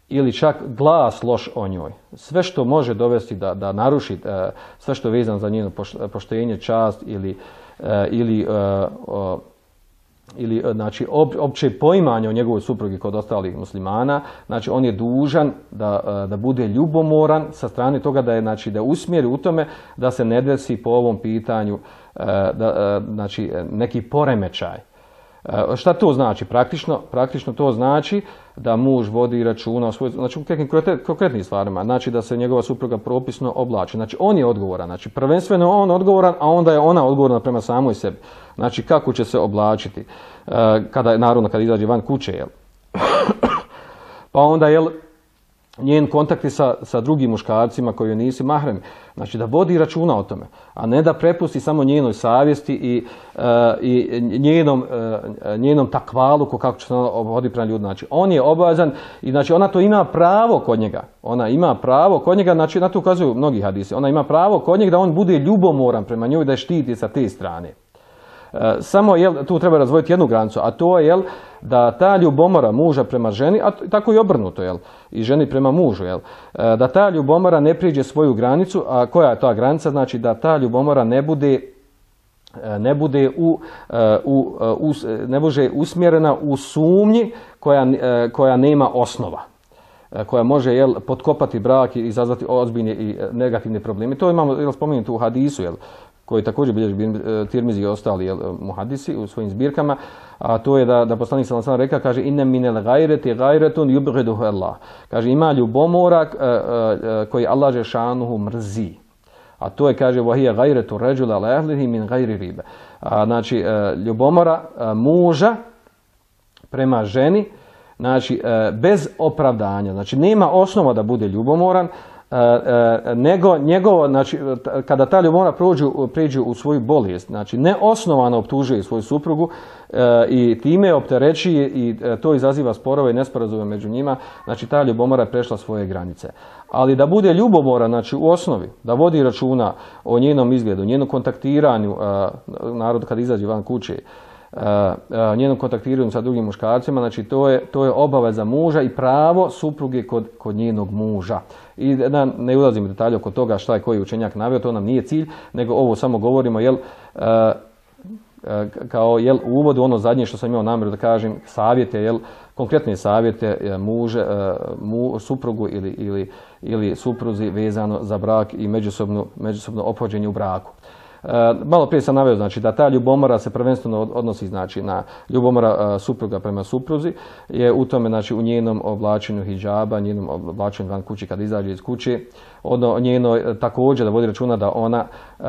Ili čak glas loš o njoj. Sve što može dovesti da, da naruši, sve što je vezano za njeno poštenje, čast ili, ili ili znači opće poimanje o njegovoj suprugi kod ostalih muslimana, znači on je dužan da, da bude ljubomoran sa strane toga da je, znači, da usmjeri u tome da se ne desi po ovom pitanju da, znači neki poremećaj. Šta to znači praktično? Praktično to znači da muž vodi računa o svoj, znači u nekim konkretnim stvarima, znači da se njegova supruga propisno oblači. Znači on je odgovoran, znači prvenstveno on odgovoran, a onda je ona odgovorna prema samoj sebi. Znači kako će se oblačiti kada naravno kada izađe van kuće, jel? Pa onda jel njen kontakti sa, sa drugim muškarcima koji nisu mahremi. Znači da vodi računa o tome, a ne da prepusti samo njenoj savjesti i, uh, i njenom, uh, njenom takvaluku kako će se obhoditi prema ljudima. Znači on je obavezan i znači ona to ima pravo kod njega. Ona ima pravo kod njega, znači na to ukazuju mnogi hadisi. Ona ima pravo kod njega da on bude ljubomoran prema njoj, da je štiti sa te strane. Samo jel, tu treba razvojiti jednu granicu, a to je jel, da ta ljubomora muža prema ženi, a tako i obrnuto, jel, i ženi prema mužu, jel, da ta ljubomora ne priđe svoju granicu, a koja je ta granica? Znači da ta ljubomora ne bude, ne bude, u, u, u, ne bude usmjerena u sumnji koja, koja nema osnova, koja može jel, potkopati brak i izazvati ozbiljne i negativne probleme. To imamo jel, spomenuto u hadisu, jel, koji također bilježi Tirmizi i ostali jel, muhadisi u svojim zbirkama, a to je da, da poslanik sallallahu alejhi ve sellem reka, kaže inna minel gajreti gajretun yubghiduhu Allah. Kaže ima ljubomora koji Allah džešanuhu mrzi. A to je, kaže, vahija gajretu ređula lehlihi min gajri ribe. A, znači, ljubomora muža prema ženi, znači, bez opravdanja. Znači, nema osnova da bude ljubomoran, nego njegovo, znači, kada ta ljubomora priđe u svoju bolest, znači, neosnovano optužuje svoju suprugu i time opterećuje i to izaziva sporove i nesporazume među njima, znači, ta ljubomora je prešla svoje granice. Ali da bude ljubomora, znači u osnovi, da vodi računa o njenom izgledu, njenom kontaktiranju, narod kad izađe van kuće, njenom kontaktiranju sa drugim muškarcima, znači to je, to je obaveza muža i pravo supruge kod, kod njenog muža. I da ne ulazimo u detalje oko toga šta je koji učenjak naveo, to nam nije cilj, nego ovo samo govorimo, jel, kao jel, u uvodu ono zadnje što sam imao namjeru da kažem, savjete, jel, konkretne savjete muže, mu, suprugu ili, ili, ili supruzi vezano za brak i međusobno, međusobno ophođenje u braku. E, malo prije sam naveo, znači, da ta ljubomora se prvenstveno odnosi, znači, na ljubomora supruga prema supruzi, je u tome, znači, u njenom oblačenju hidžaba, njenom oblačenju van kući kad izađe iz kuće, ono njeno također da vodi računa da ona, e,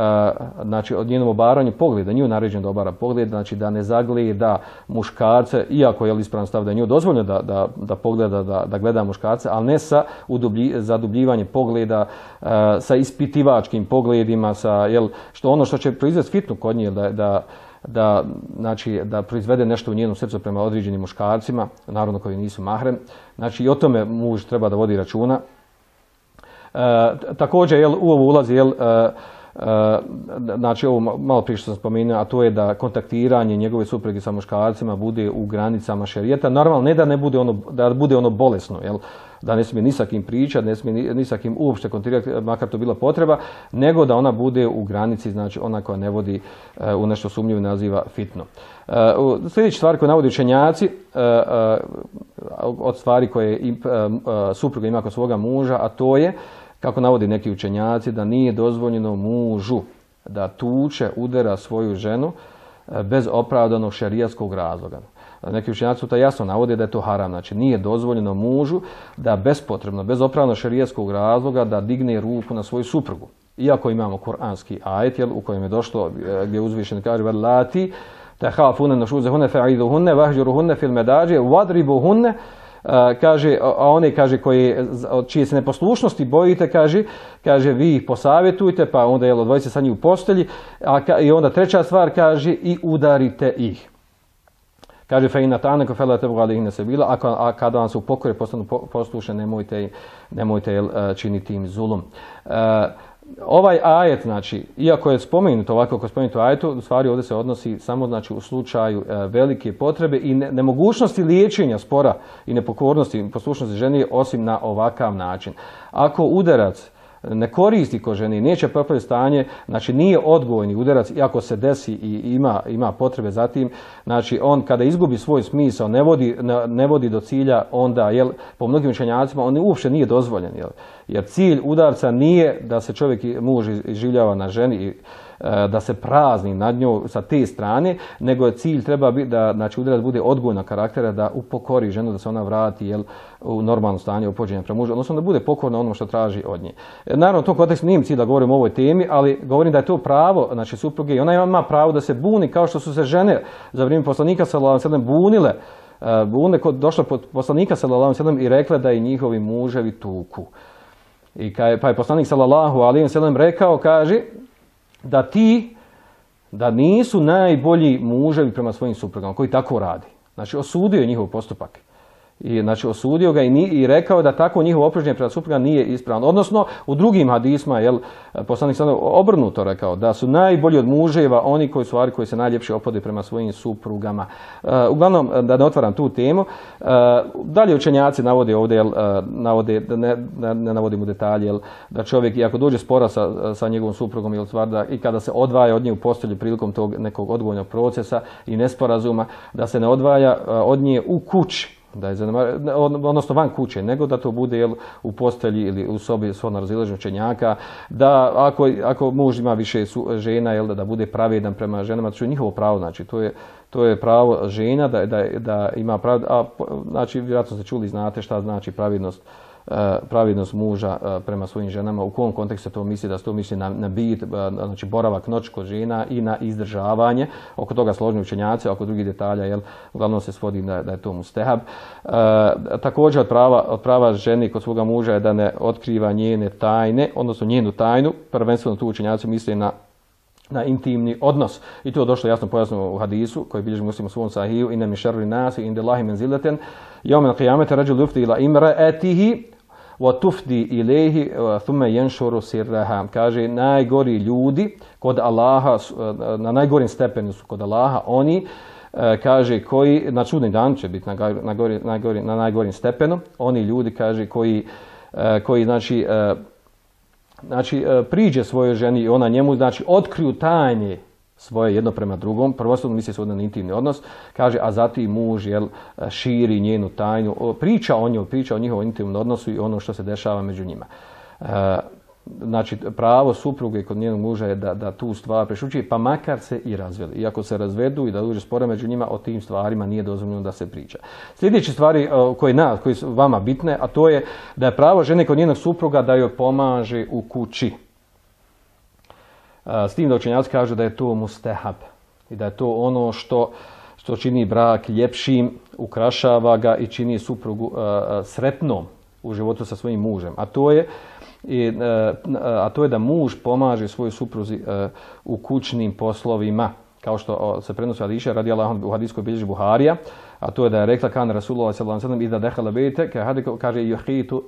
znači, od njenom obaranju pogleda, nju naređeno da obara pogled, znači da ne zagleda muškarce, iako je ispravan stav da je nju dozvoljeno da, da, da pogleda, da, da gleda muškarce, ali ne sa udublji, zadubljivanje pogleda, e, sa ispitivačkim pogledima, sa, jel, što ono što će proizvesti fitnu kod nje, da, da, da, znači, da proizvede nešto u njenom srcu prema određenim muškarcima, naravno koji nisu mahrem. Znači i o tome muž treba da vodi računa. E, također jel, u ovo ulazi jel, e, e, znači ovo malo prije što sam spomenuo, a to je da kontaktiranje njegove supruge sa muškarcima bude u granicama šerijeta. Normalno ne da ne bude ono, da bude ono bolesno, jel, da ne smije ni sa kim pričati, ne smije ni, ni sa kim uopšte kontaktirati, makar to bila potreba, nego da ona bude u granici, znači ona koja ne vodi e, u nešto sumnjivo i naziva fitno. E, sljedeća stvar koju navodi učenjaci, e, e, od stvari koje e, e, supruga ima kod svoga muža, a to je, kako navodi neki učenjaci, da nije dozvoljeno mužu da tuče, udara svoju ženu e, bez opravdanog šerijatskog razloga. Neki učenjaci to jasno navode da je to haram, znači nije dozvoljeno mužu da bespotrebno, bez opravdanog šerijatskog razloga da digne ruku na svoju suprugu. Iako imamo kuranski ajet, jel, u kojem je došlo gdje uzvišen kaže velati tahafuna nushuzahunna fa'iduhunna wahjuruhunna fil madaji wadribuhunna, kaže, a one kaže koje od čije se neposlušnosti bojite, kaže, kaže vi ih posavjetujte, pa onda jel odvojite sa njih u postelji, a i onda treća stvar kaže i udarite ih. Kaže fe ina ta'aneko fela tebu alihine sebila, ako a kada vam se u pokore postanu poslušne, nemojte, nemojte jel, činiti im zulum. E, ovaj ajet, znači, iako je spomenuto ovako kako je spomenuto ajetu, u stvari ovdje se odnosi samo, znači, u slučaju e, velike potrebe i ne, nemogućnosti liječenja spora i nepokornosti i poslušnosti ženi osim na ovakav način. Ako udarac ne koristi ko ženi, neće popraviti stanje, znači nije odgovorni udarac, iako se desi i ima, ima potrebe za tim, znači on kada izgubi svoj smisao, ne vodi, ne, ne vodi do cilja, onda, jel, po mnogim učenjacima, on uopšte nije dozvoljen, jel, jer cilj udarca nije da se čovjek, muž iživljava na ženi i da se prazni nad njom sa te strane, nego je cilj treba biti da, znači, udarac bude odgojna karaktera, da upokori ženu, da se ona vrati, jel, u normalno stanje upođenja prema mužu, odnosno da bude pokorna onom što traži od nje. Naravno, u tom kontekstu nije cilj da govorim o ovoj temi, ali govorim da je to pravo, znači, supruge, i ona ima pravo da se buni kao što su se žene za vrijeme poslanika sallallahu alejhi ve sellem bunile, bune kod došle pod poslanika sallallahu alejhi ve sellem i rekle da i njihovi muževi tuku. I kaj, pa je poslanik sallallahu alejhi ve sellem rekao, kaže, da ti, da nisu najbolji muževi prema svojim suprugama koji tako radi. Znači, osudio je njihov postupak. I, znači, osudio ga i, ni, i rekao da tako njihovo ophođenje prema suprugama nije ispravno. Odnosno, u drugim hadisma, jel, poslanik sam obrnuto rekao, da su najbolji od muževa oni koji su koji se najljepše ophode prema svojim suprugama. Uh, uglavnom, da ne otvaram tu temu, uh, dalje učenjaci navode ovdje, jel, uh, navode, da ne, ne, ne navodim u detalje, jel, da čovjek, i ako dođe spora sa, sa njegovom suprugom, jel, stvar, da, i kada se odvaja od nje u postelju prilikom tog nekog odgojnog procesa i nesporazuma, da se ne odvaja uh, od nje u kući. da je zanemariva, odnosno van kuće, nego da to bude jel, u postelji ili u sobi svojno razilaženja učenjaka, da ako, ako muž ima više su, žena, jel, da, da bude pravedan prema ženama, to je njihovo pravo, znači to je, to je pravo žena da, da, da ima pravo, a znači vjerojatno ste čuli, znate šta znači pravednost, pravednost muža prema svojim ženama, u kom kontekstu to misli, da se to misli na, na bit, znači boravak noć kod žena i na izdržavanje, oko toga složni učenjaci, oko drugih detalja, jel, uglavnom se svodi da, da je to mustehab. E, također od prava, od prava žene kod svoga muža je da ne otkriva njene tajne, odnosno njenu tajnu, prvenstveno tu učenjaci misle na na intimni odnos. I to je došlo jasno pojasno u hadisu koji bilježi Muslim u svom sahiju inna min šerri nasi inda Allahi menzileten yawm al-qiyamati rajul yufdi ila imra'atihi wa tufdi ilayhi thumma yanshuru sirraha. Kaže najgori ljudi kod Allaha, na najgorim stepenu su kod Allaha oni, kaže koji na čudni dan će biti na najgori, najgori, na najgorim stepenu, oni ljudi kaže koji koji znači Znači, priđe svojoj ženi i ona njemu, znači, otkriju tajne svoje jedno prema drugom, prvostupno misli se na intimni odnos, kaže, a zatim muž, jel, širi njenu tajnu, priča o njoj, priča o njihovom intimnom odnosu i ono što se dešava među njima. Znači, pravo supruge kod njenog muža je da, da tu stvar prešući, pa makar se i razveli. Iako se razvedu i da dođe spora među njima, o tim stvarima nije dozvoljeno da se priča. Sljedeće stvari koje, na, koje su vama bitne, a to je da je pravo žene kod njenog supruga da joj pomaže u kući. S tim da učenjaci kažu da je to mustehab i da je to ono što, što čini brak ljepšim, ukrašava ga i čini suprugu sretnom u životu sa svojim mužem. A to je I, a to je da muž pomaže svojoj supruzi u kućnim poslovima, kao što se prenosi Adiša radijallahu anhu u hadiskoj bilježi Buharija, a to je da je rekla kan Rasulullah sallallahu alejhi ve sellem iza dakhala bayta kaže yuhitu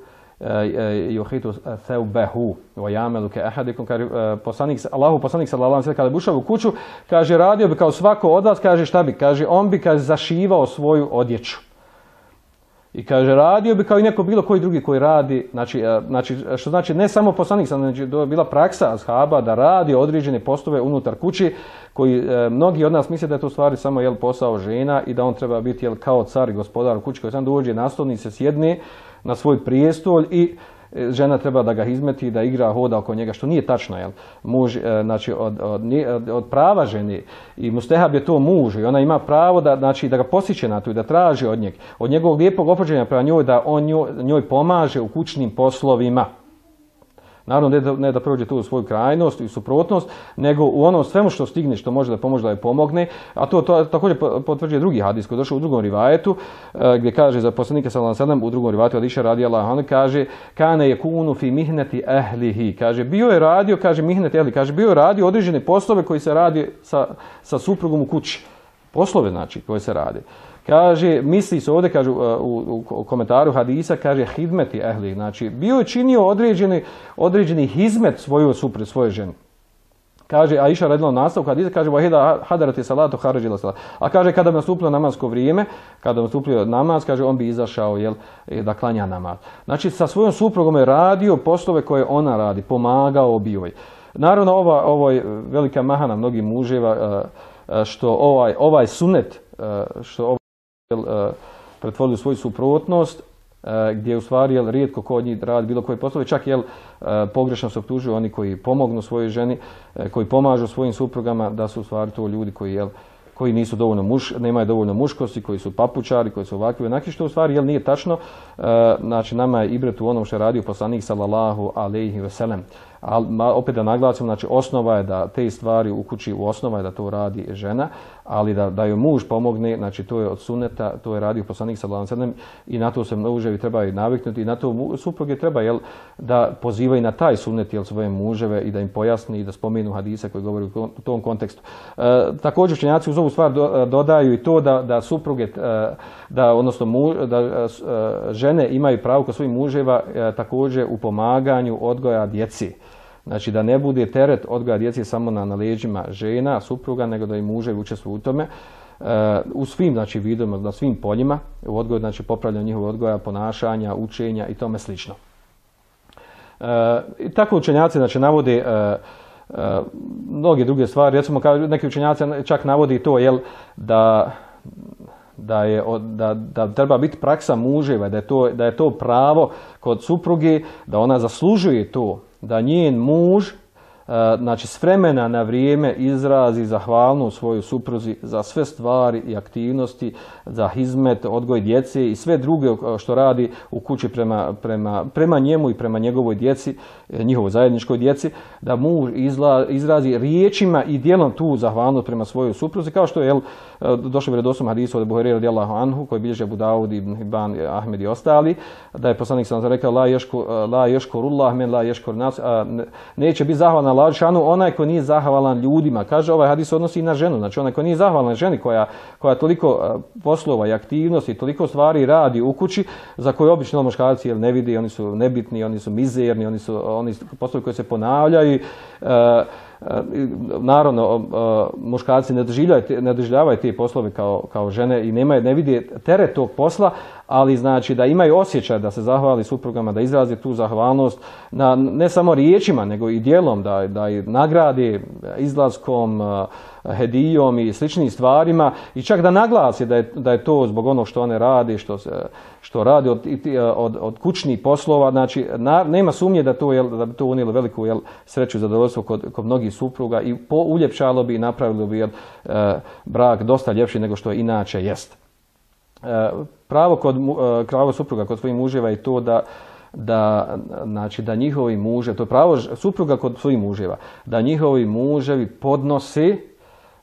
yuhitu thawbahu wa ya'malu ka ahadikum, kaže poslanik Allahu poslanik sallallahu alejhi ve sellem kada bušao u kuću, kaže radio bi kao svako od vas, kaže šta bi, kaže on bi kaže zašivao svoju odjeću. I kaže, radio bi kao i neko bilo koji drugi koji radi, znači, znači što znači ne samo poslanik, znači to je bila praksa ashaba da radi određene poslove unutar kući, koji e, mnogi od nas misle da je to u stvari samo jel, posao žena i da on treba biti jel, kao car i gospodar u kući koji sam dođe na stol, se sjedne na svoj prijestolj i žena treba da ga izmeti, da igra, hoda oko njega, što nije tačno. Jel? Muž, znači, od, od, od prava žene i mustehab je to muž i ona ima pravo da, znači, da ga posjeće na to i da traži od njeg, od njegovog lijepog ophođenja prema njoj, da on njoj, njoj pomaže u kućnim poslovima. Naravno, ne da, ne da prođe tu u svoju krajnost i suprotnost, nego u ono svemu što stigne, što može da pomože da je pomogne, a to, to također potvrđuje drugi hadis koji je došao u drugom rivajetu, gdje kaže za poslanika sallallahu alejhi ve sellem u drugom rivajetu Adiša radijallahu anhu, kaže kana yakunu fi mihnati ahlihi, kaže bio je radio, kaže mihnati ahli, kaže bio je radio određene poslove koji se radi sa, sa suprugom u kući. Poslove znači koje se radi. Kaže, misli se ovdje, kaže, u, u, u komentaru hadisa, kaže, hidmeti ehli, znači, bio je činio određeni, određeni hizmet svoju supre, svoje ženi. Kaže, Aisha radila nastavku hadisa, kaže, vahida hadarati salatu harađila salatu. A kaže, kada bi nastupilo namasko vrijeme, kada bi nastupio namaz, kaže, on bi izašao, jel, da klanja namaz. Znači, sa svojom suprugom je radio poslove koje ona radi, pomagao bi joj. Naravno, ova, ovo je velika mahana mnogih muževa, što ovaj, ovaj sunet, što ovaj pretvorili u svoju suprotnost, gdje u stvari jel, rijetko ko od njih radi bilo koje poslove, čak jel, pogrešno se optužuju oni koji pomognu svojoj ženi, koji pomažu svojim suprugama, da su u stvari to ljudi koji, jel, koji nisu dovoljno muš, nemaju dovoljno muškosti, koji su papučari, koji su ovakvi, onaki, što u stvari jel, nije tačno. Znači, nama je ibret u onom što je radio poslanik sallallahu alejhi ve sellem. Ali opet da naglasim, znači osnova je da te stvari u kući, u osnova je da to radi žena, ali da, da joj muž pomogne, znači to je od suneta, to je radio poslanik sallallahu alejhi ve sellem i na to se muževi trebaju naviknuti i na to supruge treba jel, da pozivaju na taj sunet jel, svoje muževe i da im pojasni i da spomenu hadise koji govori u tom kontekstu. E, također učenjaci uz ovu stvar do, dodaju i to da, da supruge, da, odnosno muž, da žene imaju pravo kod svojih muževa također u pomaganju odgoja djeci. Znači da ne bude teret odgoja djece samo na, na leđima žena, supruga, nego da i muževi učestvuju u tome. E, u svim znači, vidovima, na svim poljima, u odgoju, znači popravljanje njihovog odgoja, ponašanja, učenja i tome slično. E, i tako učenjaci znači, navode e, e, mnoge druge stvari. Recimo, neki učenjaci čak navodi to, jel, da da je da, da treba biti praksa muževa, da je to da je to pravo kod supruge, da ona zaslužuje to, da njen muž znači s vremena na vrijeme izrazi zahvalnost svojoj supruzi za sve stvari i aktivnosti, za hizmet, odgoj djece i sve druge što radi u kući prema, prema, prema njemu i prema njegovoj djeci, njihovoj zajedničkoj djeci, da muž izla, izrazi riječima i djelom tu zahvalnost prema svojoj supruzi, kao što je jel, došlo u vjerodostojnom hadisu od Buhari radijallahu anhu, koji bilježe Abu Daud, Ibn Hibban, Ahmed i ostali, da je poslanik sallallahu alejhi ve sellem rekao la yashku la yashkurullah men la yashkur nas, neće biti zahvalan Allah šanu onaj ko nije zahvalan ljudima. Kaže, ovaj hadis odnosi i na ženu, znači onaj ko nije zahvalan ženi koja koja toliko poslova i aktivnosti, toliko stvari radi u kući za koje obično muškarci jel ne vidi, oni su nebitni, oni su mizerni, oni su oni poslovi koji se ponavljaju. E, naravno muškarci ne doživljavaju ne doživljavaju te poslove kao kao žene i nemaju ne vide teret tog posla, ali znači da imaju osjećaj da se zahvali suprugama, da izrazi tu zahvalnost na ne samo riječima nego i djelom, da da i nagrade izlaskom, hedijom i sličnim stvarima i čak da naglasi da je da je to zbog onog što one rade, što se što radi od, od, od kućnih poslova, znači na, nema sumnje da to, jel, da bi to unijelo veliku jel, sreću i zadovoljstvo kod, kod mnogih supruga i po, uljepšalo bi i napravilo bi jel, e, brak dosta ljepši nego što inače jest. E, pravo, kod, e, pravo supruga kod svojih muževa je to da da znači da njihovi muže, to je pravo supruga kod svojih muževa, da njihovi muževi podnose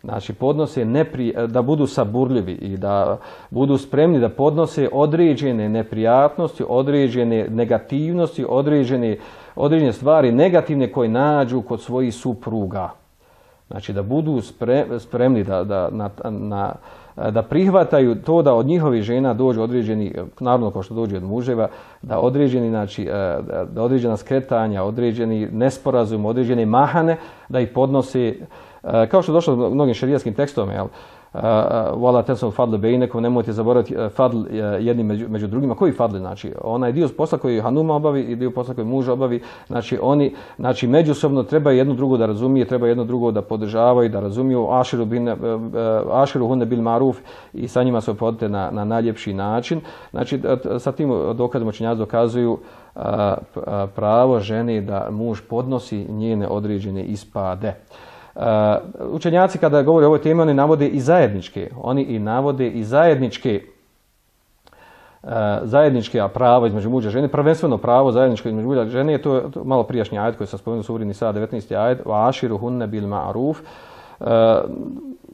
Znači podnose nepri, da budu saburljivi i da budu spremni da podnose određene neprijatnosti, određene negativnosti, određene, određene stvari negativne koje nađu kod svojih supruga. Znači da budu spremni da, da, na, na, da prihvataju to da od njihovih žena dođu određeni, naravno kao što dođe od muževa, da određeni, znači, da određena skretanja, određeni nesporazum, određene mahane, da ih podnose. Kao što je došlo u mnogim šerijskim tekstovima, jel? Wala tansul fadl bejnekum, nemojte zaboraviti fadl jedni među, među drugima. Koji fadl? Znači, onaj dio posla koji hanuma obavi i dio posla koji muž obavi, znači oni znači međusobno treba jedno drugo da razumije, treba jedno drugo da podržavaju, da razumiju aširu bin aširu hunne bil maruf i sa njima se ophodite na na najljepši način. Znači sa tim dokazom učenjaci dokazuju pravo žene da muž podnosi njene određene ispade. Uh, učenjaci kada govore o ovoj temi oni navode i zajedničke, oni i navode i zajedničke uh, zajedničke prava između muža i žene, prvenstveno pravo zajedničko između muža i žene, to je to malo prijašnji ajet koji sam spomenuo u suri Nisa devetnaesti ajet, wa ashiru hunne bil ma'ruf. Uh,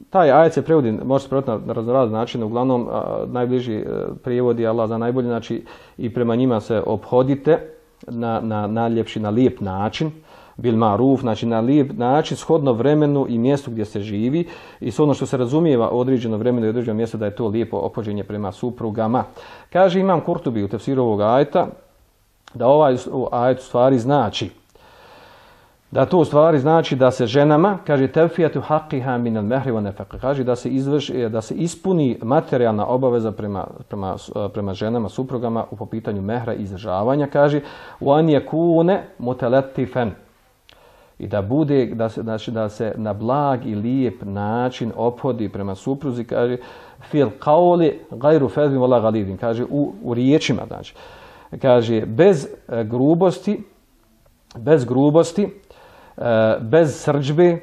taj ajet se prevodi, može se prevoditi na raznorazne načine, uglavnom uh, najbliži uh, prijevod je Allah za najbolje, znači i prema njima se ophodite na na najljepši, na lijep način. Bil ma'ruf, znači na lijep način, shodno vremenu i mjestu gdje se živi i s ono što se razumijeva određeno vremenu i određeno mjesto da je to lijepo ophođenje prema suprugama. Kaže Imam Kurtubi u tefsiru ovog ajeta da ovaj ajet u stvari znači da to u stvari znači da se ženama, kaže tevfijatu haqqiha min al-mahri wa nafaqa, kaže da se izvrši, da se ispuni materijalna obaveza prema prema prema ženama, suprugama u po pitanju mehra i izdržavanja, kaže wa an yakuna mutalattifan, i da bude da se znači da se na blag i lijep način ophodi prema supruzi, kaže fil qawli ghayru fadhin wala ghalidin, kaže u, u riječima, znači kaže bez grubosti, bez grubosti, bez srdžbe,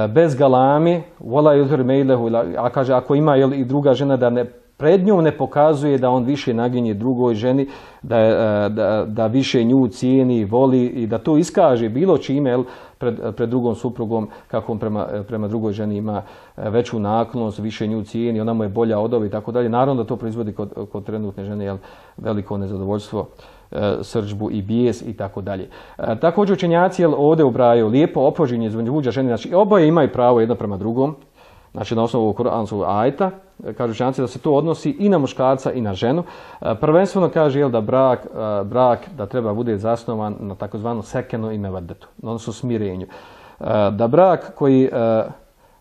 bez galami, wala yuzhir mailahu, a kaže ako ima jel, i druga žena da ne pred njom ne pokazuje da on više naginje drugoj ženi, da, da, da više nju cijeni, voli i da to iskaže bilo čime jel, pred, pred drugom suprugom, kako on prema, prema drugoj ženi ima veću naklonost, više nju cijeni, ona mu je bolja od ove i tako dalje. Naravno da to proizvodi kod, kod trenutne žene jel, veliko nezadovoljstvo, srdžbu i bijes i tako dalje. Također učenjaci jel, ovdje ubrajaju lijepo ophođenje između muža i žene, znači oboje imaju pravo jedno prema drugom. Znači na osnovu kuranskog ajeta, kažu učenjaci da se to odnosi i na muškarca i na ženu. Prvenstveno kaže jel, da brak, brak da treba bude zasnovan na takozvanu sekenu i mevadetu, odnosno smirenju. Da brak koji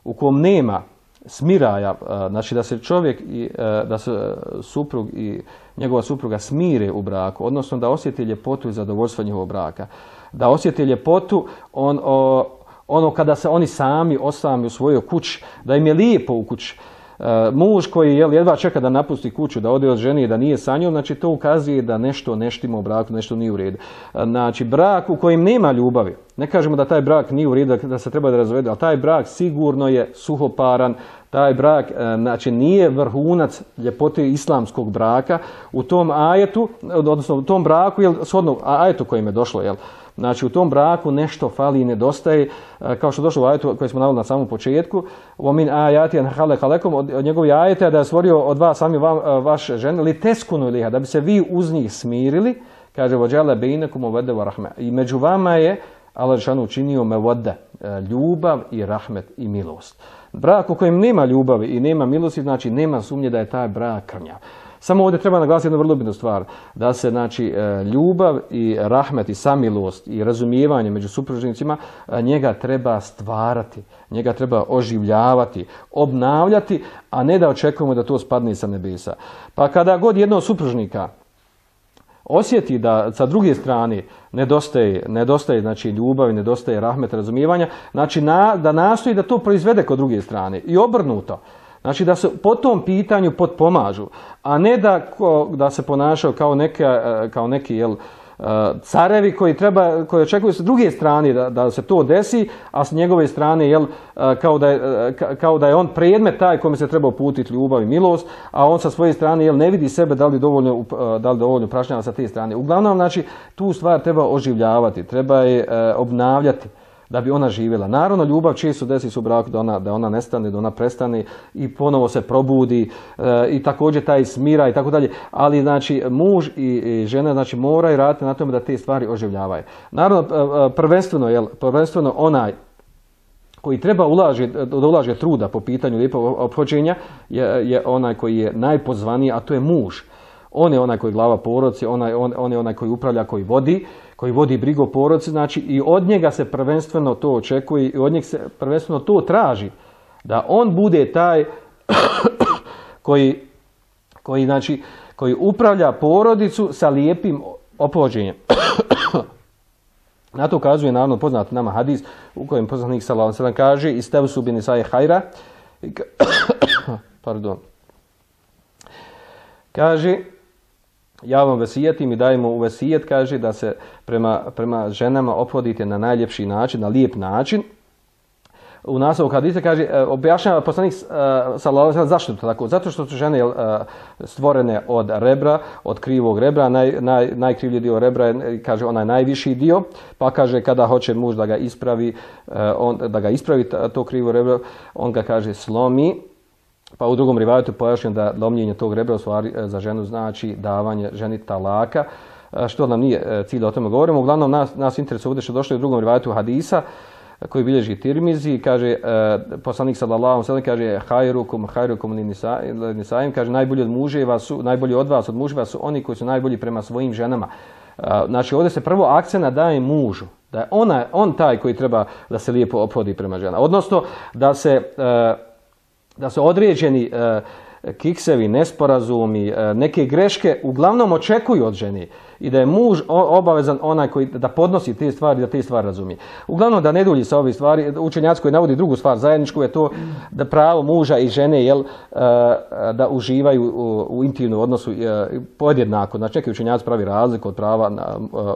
u kom nema smiraja, znači da se čovjek i da se suprug i njegova supruga smire u braku, odnosno da osjeti ljepotu i zadovoljstvo njihovog braka, da osjeti ljepotu on o, ono kada se oni sami osami u svojoj kući, da im je lijepo u kući, muž koji jel, jedva čeka da napusti kuću, da ode od žene i da nije sa njom, znači to ukazuje da nešto neštima u braku, nešto nije u redu. Znači brak u kojem nema ljubavi, ne kažemo da taj brak nije u redu, da se treba da razvede, ali taj brak sigurno je suhoparan, taj brak znači nije vrhunac ljepote islamskog braka. U tom ajetu, odnosno u tom braku, jel, shodno ajetu kojim je došlo, jel, znači u tom braku nešto fali i nedostaje, kao što došlo u ajetu koji smo naveli na samom početku, وَمِنْ آيَاتِ أَنْ خَلَقَ لَكُمْ, od, od njegovih ajeta da je stvorio od vas sami vam, vaše žene, li teskunu iliha, da bi se vi uz njih smirili, kaže وَجَعَلَ بَيْنَكُمْ مَوَدَّةً وَرَحْمَةً, i među vama je Allah dželešanu učinio mevodda, ljubav i rahmet i milost. Brak u kojem nema ljubavi i nema milosti, znači nema sumnje da je taj brak krnjav. Samo ovdje treba naglasiti jednu vrlo bitnu stvar, da se znači ljubav i rahmet i samilost i razumijevanje među supružnicima, njega treba stvarati, njega treba oživljavati, obnavljati, a ne da očekujemo da to spadne sa nebesa. Pa kada god jednog supružnika osjeti da sa druge strane nedostaje, nedostaje znači ljubavi, nedostaje rahmeta, razumijevanja, znači na, da nastoji da to proizvede kod druge strane i obrnuto. Znači da se po tom pitanju potpomažu, a ne da, da se ponašaju kao, neka, kao neki jel, carevi koji, treba, koji očekuju sa druge strane da, da se to desi, a s njegove strane jel, kao, da je, kao da je on predmet taj kome se treba uputiti ljubav i milost, a on sa svoje strane jel, ne vidi sebe da li dovoljno, da li dovoljno prašnjava sa te strane. Uglavnom, znači, tu stvar treba oživljavati, treba je obnavljati da bi ona živjela. Naravno, ljubav često desi se u braku da ona, da ona nestane, da ona prestane i ponovo se probudi e, i također taj smira i tako dalje. Ali znači muž i, i žena znači moraju raditi na tome da te stvari oživljavaju. Naravno, prvenstveno, jel, prvenstveno onaj koji treba ulaže, da ulaže truda po pitanju lijepog ophođenja je, je onaj koji je najpozvaniji, a to je muž. On je onaj koji je glava porodice, onaj, on, on je onaj koji upravlja, koji vodi, koji vodi brigu o porodici, znači i od njega se prvenstveno to očekuje i od njega se prvenstveno to traži, da on bude taj koji, koji, znači, koji upravlja porodicu sa lijepim ophođenjem. Na to ukazuje naravno poznat nama hadis u kojem poslanik sallallahu alejhi ve sellem kaže istavsu bin nisa'i hajra, pardon, kaže ja vam vesijetim i dajemo u vesijet, kaže da se prema, prema ženama ophodite na najljepši način, na lijep način. U nastavku hadisa kaže, objašnjava poslanik sallallahu alejhi ve sellem zašto to tako? Zato što su žene stvorene od rebra, od krivog rebra, naj, naj, najkrivlji dio rebra je, kaže, onaj najviši dio, pa kaže kada hoće muž da ga ispravi, on, da ga ispravi to krivo rebro, on ga kaže slomi. Pa u drugom rivajetu pojašnjeno da lomljenje tog rebra u stvari za ženu znači davanje ženi talaka, što nam nije cilj da o tome govorimo. Uglavnom nas, nas interesuje ovdje što došlo u drugom rivajetu hadisa koji bilježi Tirmizi, kaže poslanik sallallahu alejhi ve sellem kaže hajrukum hajrukum nisa'im, kaže najbolji od muževa su, najbolji od vas od muževa su oni koji su najbolji prema svojim ženama. Znači ovdje se prvo akcent daje mužu, da je ona, on taj koji treba da se lijepo ophodi prema ženama. Odnosno da se da se određeni e, kiksevi, nesporazumi, e, neke greške uglavnom očekuju od žene i da je muž obavezan onaj koji da podnosi te stvari, da te stvari razumije. Uglavnom da ne dulji sa ovih stvari, učenjaci koji navodi drugu stvar zajedničku je to da pravo muža i žene jel, da uživaju u, u intimnom odnosu podjednako. Znači neki učenjaci pravi razliku od prava na,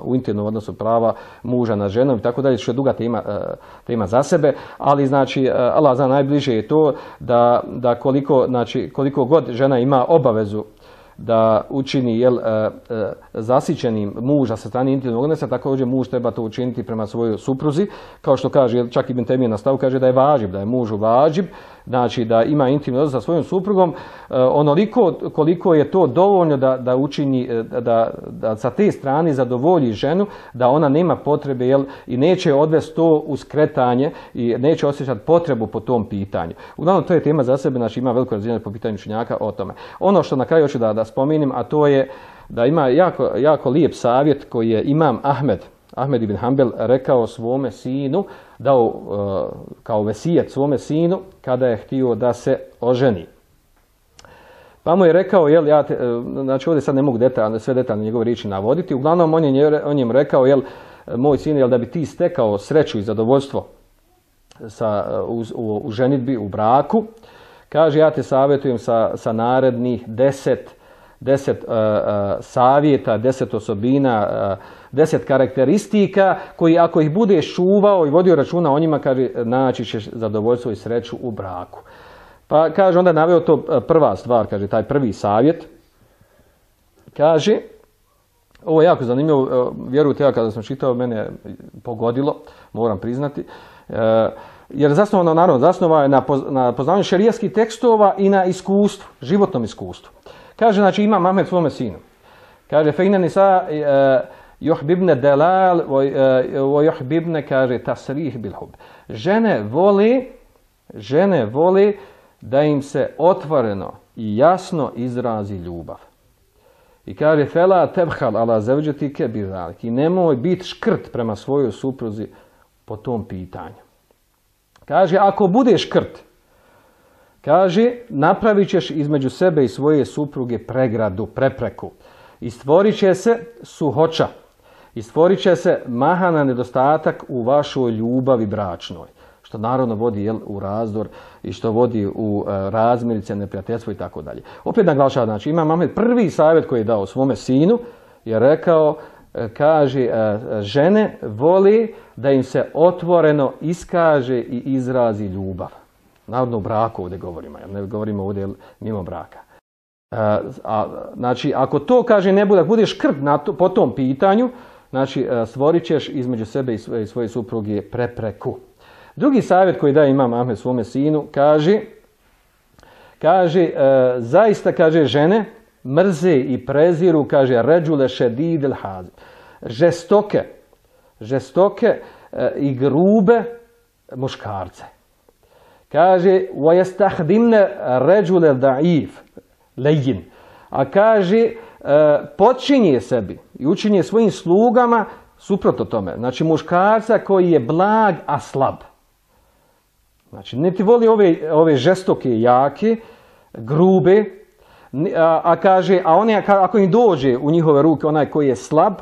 u intimnom odnosu prava muža na ženom i tako dalje, što je duga tema, tema za sebe, ali znači Allah zna najbliže je to da, da koliko, znači, koliko god žena ima obavezu da učini jel, e, e, zasićenim muža sa strane intimnog odnosa, također muž treba to učiniti prema svojoj supruzi, kao što kaže, jel, čak Ibn Temije na stavu kaže da je važib, da je mužu važib, znači da ima intimni odnos sa svojom suprugom, e, onoliko koliko je to dovoljno da, da učini, da, da sa te strane zadovolji ženu, da ona nema potrebe jel, i neće odvesti to u skretanje i neće osjećati potrebu po tom pitanju. Uglavnom, to je tema za sebe, znači ima veliko razvijenje po pitanju učenjaka o tome. Ono što na kraju hoću da, da spomenem, a to je da ima jako, jako lijep savjet koji je imam Ahmed, Ahmed ibn Hanbel rekao svome sinu, dao uh, kao vesijet svome sinu kada je htio da se oženi. Pa mu je rekao, jel, ja te, znači ovdje sad ne mogu detaljne, sve detaljne njegove riječi navoditi, uglavnom on je on njim rekao, jel, moj sin, jel, da bi ti stekao sreću i zadovoljstvo sa, u, u, u ženitbi, u braku, kaže ja te savjetujem sa, sa narednih deset, deset uh, uh, savjeta, deset osobina, uh, deset karakteristika koji ako ih budeš čuvao i vodio računa o njima, kaže, naći ćeš zadovoljstvo i sreću u braku. Pa kaže, onda naveo to prva stvar, kaže, taj prvi savjet. Kaže, ovo je jako zanimljivo, vjerujte, ja kada sam čitao, mene pogodilo, moram priznati, jer zasnovano, naravno, zasnova je na poznavanju šerijskih tekstova i na iskustvu, životnom iskustvu. Kaže, znači, ima Ahmed svome sinu. Kaže, fejna nisa juhbibne delal, o juhbibne, kaže, tasrih bil hub. Žene voli, žene voli da im se otvoreno i jasno izrazi ljubav. I kaže, fela tebhal ala zavđetike bizalik. I nemoj biti škrt prema svojoj supruzi po tom pitanju. Kaže, ako budeš škrt, kaže, napravit ćeš između sebe i svoje supruge pregradu, prepreku. I stvorit će se suhoća. I stvorit će se mahana nedostatak u vašoj ljubavi bračnoj. Što naravno vodi jel, u razdor i što vodi u uh, razmirice, neprijateljstvo i tako dalje. Opet naglašava, znači imam Ahmed prvi savjet koji je dao svome sinu, je rekao, uh, kaže, uh, žene voli da im se otvoreno iskaže i izrazi ljubav. Naravno u braku ovdje govorimo, jer ne govorimo ovdje mimo braka. Uh, a, znači, ako to, kaže, ne bude, budeš škrt na to, po tom pitanju, znači, uh, stvorit ćeš između sebe i svoje, i svoje supruge prepreku. Drugi savjet koji daje imam Ahmed svome sinu, kaže, kaže e, zaista, kaže, žene mrze i preziru, kaže, ređule šedidel hazim. Žestoke, žestoke e, i grube muškarce. Kaže, وَيَسْتَحْدِمْنَ رَجُلَ دَعِيف لَيِّن. A kaže, e, počinje sebi i učinje svojim slugama suprotno tome. Znači, muškarca koji je blag, a slab. Znači, ne ti voli ove, ove žestoke, jake, grube, a, a kaže, a oni, ako im dođe u njihove ruke onaj koji je slab,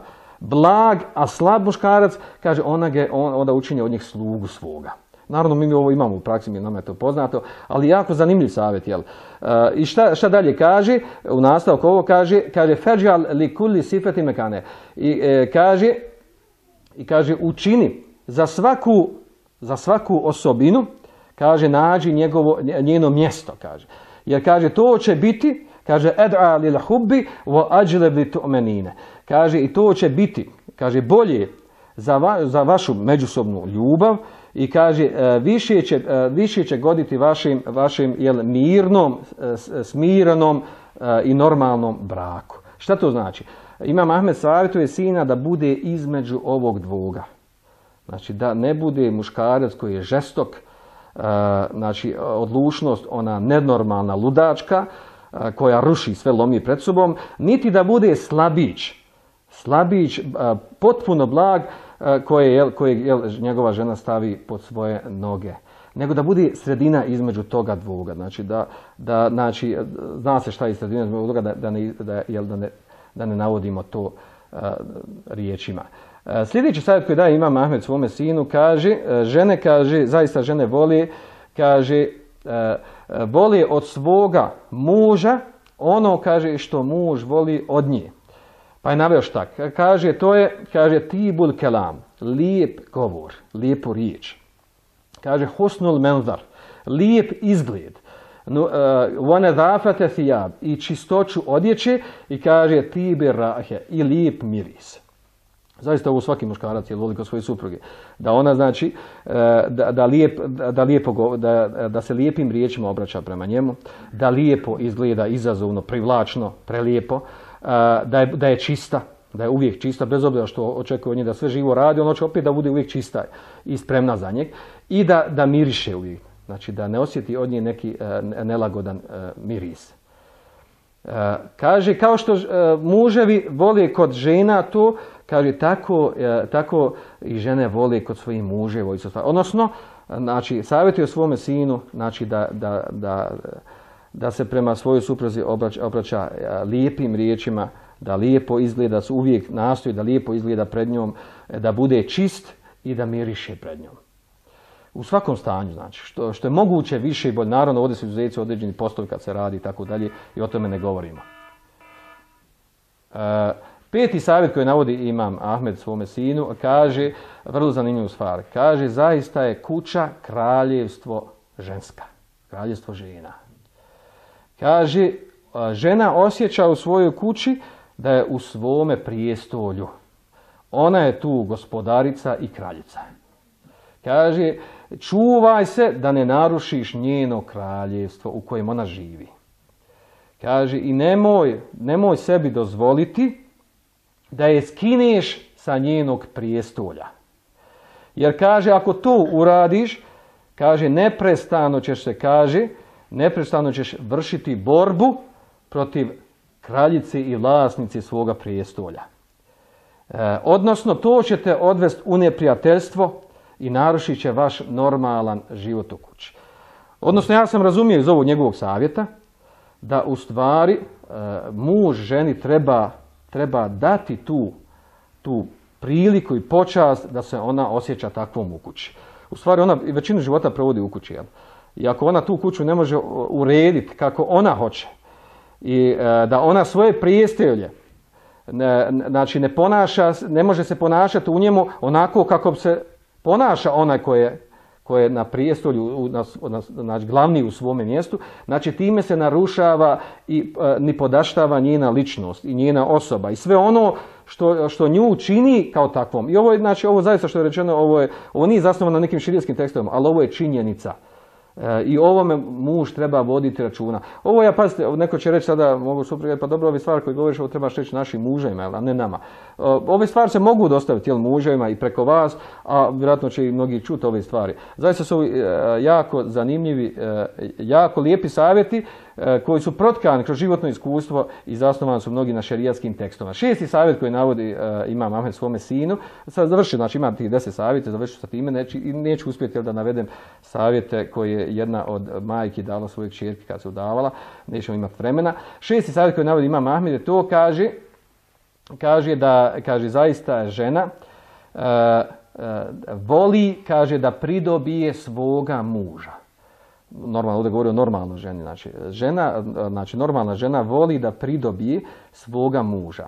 blag, a slab muškarac, kaže, ona ga, on, onda učinje od njih slugu svoga. Naravno, mi ovo imamo u praksi, mi nam je to poznato, ali jako zanimljiv savjet, jel? Uh, I šta, šta dalje kaže? U nastavku ovo kaže, kaže, feđal li kulli sifeti mekane. I e, kaže, i kaže, učini za svaku, za svaku osobinu, kaže, nađi njegovo, njeno mjesto, kaže. Jer, kaže, to će biti, kaže, ed'a lil hubbi wa ajleb li tu'menine. Kaže, i to će biti, kaže, bolje za, va, za vašu međusobnu ljubav i, kaže, više će, više će goditi vašim, vašim jel, mirnom, smirenom i normalnom braku. Šta to znači? Imam Ahmed savjetuje sina da bude između ovog dvoga. Znači, da ne bude muškarac koji je žestok, Uh, znači odlučnost, ona nenormalna ludačka uh, koja ruši sve, lomi pred sobom, niti da bude slabić, slabić uh, potpuno blag uh, koje, jel, koje jel, njegova žena stavi pod svoje noge, nego da bude sredina između toga dvoga. Znači, da, da, znači, zna se šta je sredina između toga, da, da, ne, da, jel, da, ne, da ne navodimo to uh, riječima. Sljedeći savjet koji daje imam Ahmed svome sinu, kaže, žene, kaže, zaista žene voli, kaže, voli od svoga muža ono, kaže, što muž voli od nje. Pa je naveo šta? Kaže, to je, kaže, tibul kelam, lijep govor, lijepu riječ. Kaže, husnul menzar, lijep izgled. One zafate thijab, i čistoću odjeće, i kaže, tibe rahe, i lijep miris. Zaista ovo svaki muškarac je voli kod svoje supruge. Da ona, znači, da, da, lijep, da, lijepo, da, da se lijepim riječima obraća prema njemu, da lijepo izgleda, izazovno, privlačno, prelijepo, da je, da je čista, da je uvijek čista, bez obzira što očekuje od nje da sve živo radi, on hoće opet da bude uvijek čista i spremna za njeg, i da, da miriše uvijek. Znači, da ne osjeti od nje neki nelagodan miris. Kaže, kao što muževi vole kod žena to, kaže, tako, tako i žene vole kod svojih muževa. Odnosno, znači, savjetuje svome sinu, znači, da, da, da, da se prema svojoj supruzi obraća, obraća lijepim riječima, da lijepo izgleda, uvijek nastoji da lijepo izgleda pred njom, da bude čist i da miriše pred njom. U svakom stanju, znači, što, što je moguće više i bolje. Naravno, ovdje su izuzeci određeni poslovi kad se radi i tako dalje i o tome ne govorimo. E, peti savjet koji navodi imam Ahmed svome sinu, kaže, vrlo zanimljivu stvar, kaže, zaista je kuća kraljevstvo ženska, kraljevstvo žena. Kaže, žena osjeća u svojoj kući da je u svome prijestolju. Ona je tu gospodarica i kraljica. Kaže, čuvaj se da ne narušiš njeno kraljevstvo u kojem ona živi. Kaže, i nemoj, nemoj sebi dozvoliti da je skineš sa njenog prijestolja. Jer kaže, ako to uradiš, kaže, neprestano ćeš se, kaže, neprestano ćeš vršiti borbu protiv kraljice i vlasnice svoga prijestolja. E, odnosno, to će te odvesti u neprijateljstvo i narušit će vaš normalan život u kući. Odnosno, ja sam razumio iz ovog njegovog savjeta da u stvari e, muž ženi treba, treba dati tu, tu priliku i počast da se ona osjeća takvom u kući. U stvari, ona većinu života provodi u kući. Jel? I ako ona tu kuću ne može urediti kako ona hoće i e, da ona svoje prijestolje ne, znači ne ponaša, ne može se ponašati u njemu onako kako se ponaša onaj koji je, koji je na prijestolju, na, na, znači glavni u svome mjestu, znači time se narušava i e, nipodaštava njena ličnost i njena osoba i sve ono što, što nju čini kao takvom. I ovo je, znači, ovo zaista što je rečeno, ovo, je, ovo nije zasnovano na nekim širijskim tekstovima, ali ovo je činjenica. E, I ovome muž treba voditi računa. Ovo ja, pazite, neko će reći sada, mogu supruga, pa dobro, ove stvari koje govoriš, ovo trebaš reći našim muževima, a ne nama. E, ove stvari se mogu dostaviti jel, muževima i preko vas, a vjerojatno će i mnogi čuti ove stvari. Zaista su e, jako zanimljivi, e, jako lijepi savjeti e, koji su protkani kroz životno iskustvo i zasnovani su mnogi na šerijatskim tekstovima. Šesti savjet koji navodi e, imam Ahmed svome sinu, sad završio, znači imam tih deset savjeta, završio sa time, neću, neću uspjeti jel, da navedem savjete koje jedna od majki dala svojoj kćerki kad se udavala, nećemo imati vremena. Šesti savjet koji navodi imam Ahmed je to, kaže, kaže da kaže zaista žena uh, uh, voli, kaže da pridobije svoga muža. Normalno, ovdje govori o normalnoj ženi. Znači, žena, znači, normalna žena voli da pridobije svoga muža.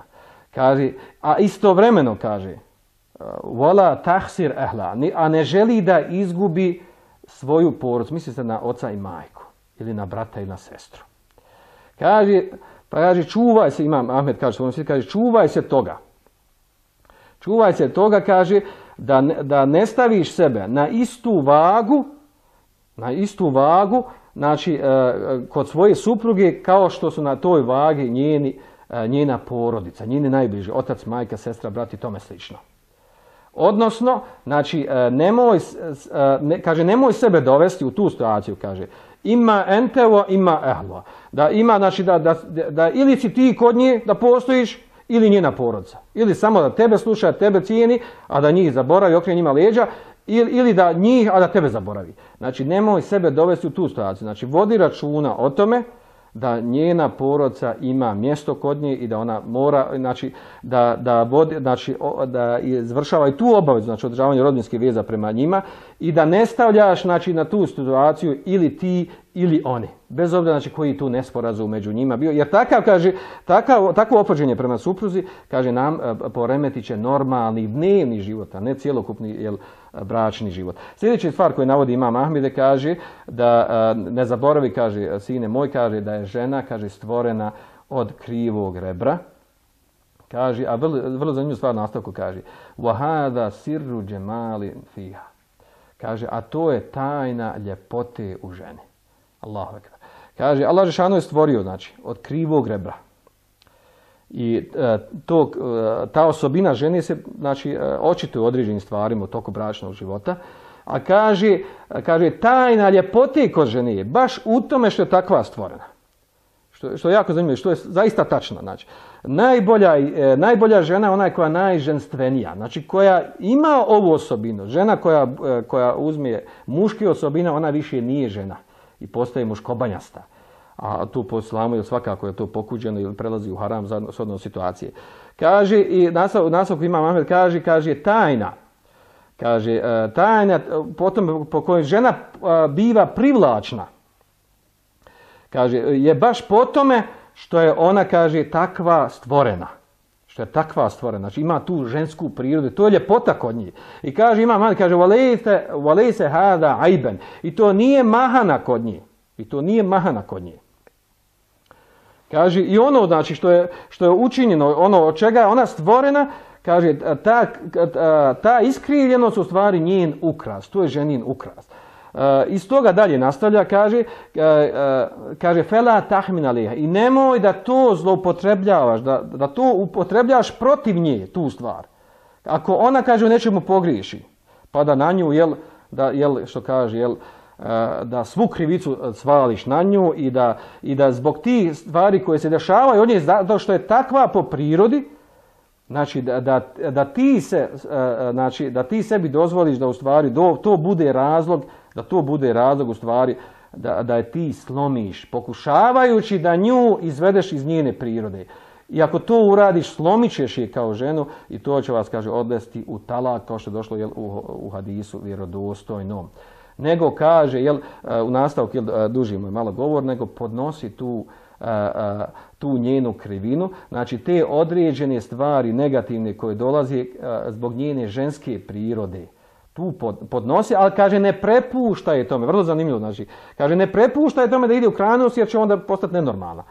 Kaže, a istovremeno kaže, vola tahsir ehla, a ne želi da izgubi svoju porodicu, misli se na oca i majku, ili na brata i na sestru. Kaže, pa kaže, čuvaj se, imam Ahmed kaže, kaže, čuvaj se toga. Čuvaj se toga, kaže, da, da ne staviš sebe na istu vagu, na istu vagu, znači, kod svoje supruge, kao što su na toj vagi njeni, njena porodica, njeni najbliži, otac, majka, sestra, brat i tome slično. Odnosno, znači, nemoj, ne, kaže, nemoj sebe dovesti u tu situaciju, kaže, ima entevo, ima ehlo. Da ima, znači, da, da, da ili si ti kod nje da postojiš, ili njena porodica. Ili samo da tebe sluša, tebe cijeni, a da njih zaboravi, okrene njima leđa, ili, ili da njih, a da tebe zaboravi. Znači, nemoj sebe dovesti u tu situaciju. Znači, vodi računa o tome da njena porodica ima mjesto kod nje i da ona mora, znači, da, da, vodi, znači, da izvršava i tu obavezu, znači, održavanje rodbinskih veza prema njima i da ne stavljaš, znači, na tu situaciju ili ti ili oni. Bez obzira, znači, koji tu nesporazum među njima bio. Jer takav, kaže, takav, takvo ophođenje prema supruzi, kaže, nam poremetit će normalni dnevni život, a ne cjelokupni jel, bračni život. Sljedeća stvar koju navodi imam Ahmede, kaže da ne zaboravi, kaže, sine moj, kaže da je žena, kaže, stvorena od krivog rebra. Kaže, a vrlo, vrlo zanimljivu stvar nastavku kaže, وَهَذَا سِرُّ جَمَالٍ فِيهَا. Kaže, a to je tajna ljepote u ženi. Allahu ekber. Kaže, Allah dželešanu je stvorio, znači, od krivog rebra. I e, to, e, ta osobina žene se, znači, e, očituje u određenim stvarima u toku bračnog života. A kaže, kaže, tajna ljepote kod žene je baš u tome što je takva stvorena. Što, što je jako zanimljivo, što je zaista tačno. Znači, najbolja, e, najbolja žena je ona koja je najženstvenija, znači koja ima ovu osobinu. Žena koja, e, koja uzme muške osobine, ona više nije žena i postaje muškobanjasta. A tu po islamu je svakako je to pokuđeno ili prelazi u haram za shodno situacije. Kaže, i nastavku Imam Ahmed kaže, kaže tajna, Kaže, tajna potom po kojoj žena biva privlačna, kaže, je baš po tome što je ona, kaže, takva stvorena. Što je takva stvorena. Znači, ima tu žensku prirodu. To je ljepota kod njih. I kaže, ima man, kaže, valejse hada ajben. I to nije mahana kod njih. I to nije mahana kod njih. Kaže, i ono, znači, što je, što je učinjeno, ono od čega je ona stvorena, kaže, ta, ta iskrivljenost u stvari njen ukras. To je ženin ukras. Uh, iz toga dalje nastavlja, kaže, uh, uh, kaže fela tahmin aliha, i nemoj da to zloupotrebljavaš, da, da to upotrebljaš protiv nje, tu stvar. Ako ona, kaže, u nečemu pogriješi, pa da na nju, jel, da, jel, što kaže, jel, uh, da svu krivicu svališ na nju i da, i da zbog tih stvari koje se dešavaju od nje, zato što je takva po prirodi, znači da, da, da, ti se, uh, znači da ti sebi dozvoliš da u stvari do, to bude razlog, da to bude razlog u stvari da, da je ti slomiš, pokušavajući da nju izvedeš iz njene prirode. I ako to uradiš, slomit ćeš je kao ženu i to će vas, kaže, odvesti u talak, kao što je došlo, jel, u, u hadisu vjerodostojnom. Nego kaže, jel, u nastavku, jel, duži moj malo govor, nego podnosi tu, tu njenu krivinu, znači te određene stvari negativne koje dolaze zbog njene ženske prirode. Tu pod, podnosi, ali kaže ne prepuštaj tome, vrlo zanimljivo, znači, kaže ne prepuštaj tome da ide u krajnost jer će onda postati nenormalna.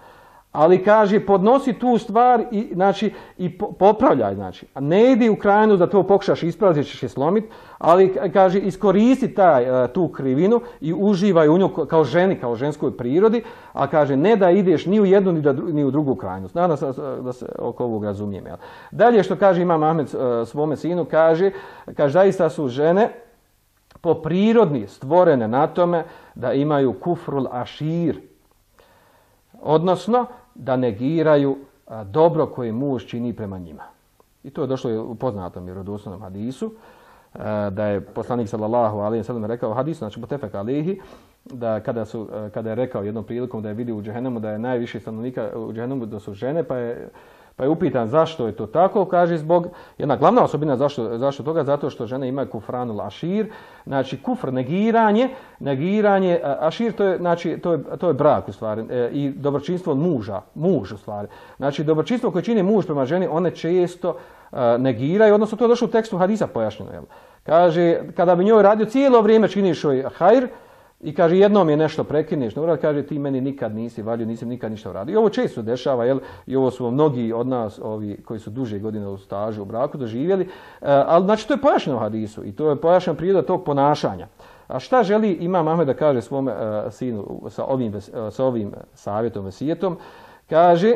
Ali kaže podnosi tu stvar i, znači, i po, popravljaj, znači. A ne idi u krajnost da to pokušaš ispraviti, ćeš je slomiti, ali kaže iskoristi taj, tu krivinu i uživaj u nju kao ženi, kao ženskoj prirodi, a kaže ne da ideš ni u jednu ni, da, ni u drugu krajnost. Nadam se da se oko ovog razumijem. Jel? Dalje što kaže Imam Ahmed svome sinu, kaže, kaže zaista su žene po prirodni stvorene na tome da imaju kufrul ašir, odnosno da negiraju a, dobro koje muž čini prema njima. I to je došlo u poznatom vjerodostojnom hadisu, a, da je poslanik sallallahu alejhi ve sellem rekao hadis, znači mutefek alejhi, da kada su kada je rekao jednom prilikom da je vidio u džehennemu da je najviše stanovnika u džehennemu da su žene, pa je pa je upitan zašto je to tako, kaže zbog jedna glavna osobina zašto zašto toga, zato što žene imaju kufranul ašir, znači kufr negiranje, negiranje ašir to je znači to je to je brak u stvari e, i dobročinstvo muža, muž u stvari. Znači dobročinstvo koje čini muž prema ženi, one često e, negiraju, odnosno to je došlo u tekstu hadisa pojašnjeno, jel? Kaže kada bi njoj radio cijelo vrijeme činiš joj hajr, i kaže jednom je nešto prekineš, no kaže ti meni nikad nisi vadio, nisam nikad ništa uradio. I ovo često dešava, jel? I ovo su mnogi od nas, ovi koji su duže godine u stažu u braku doživjeli, e, ali znači to je pojašnjeno u hadisu i to je pojašnjena priroda tog ponašanja. A šta želi Imam Ahmed da kaže svome e, sinu sa ovim, sa ovim savjetom, vesijetom? Kaže,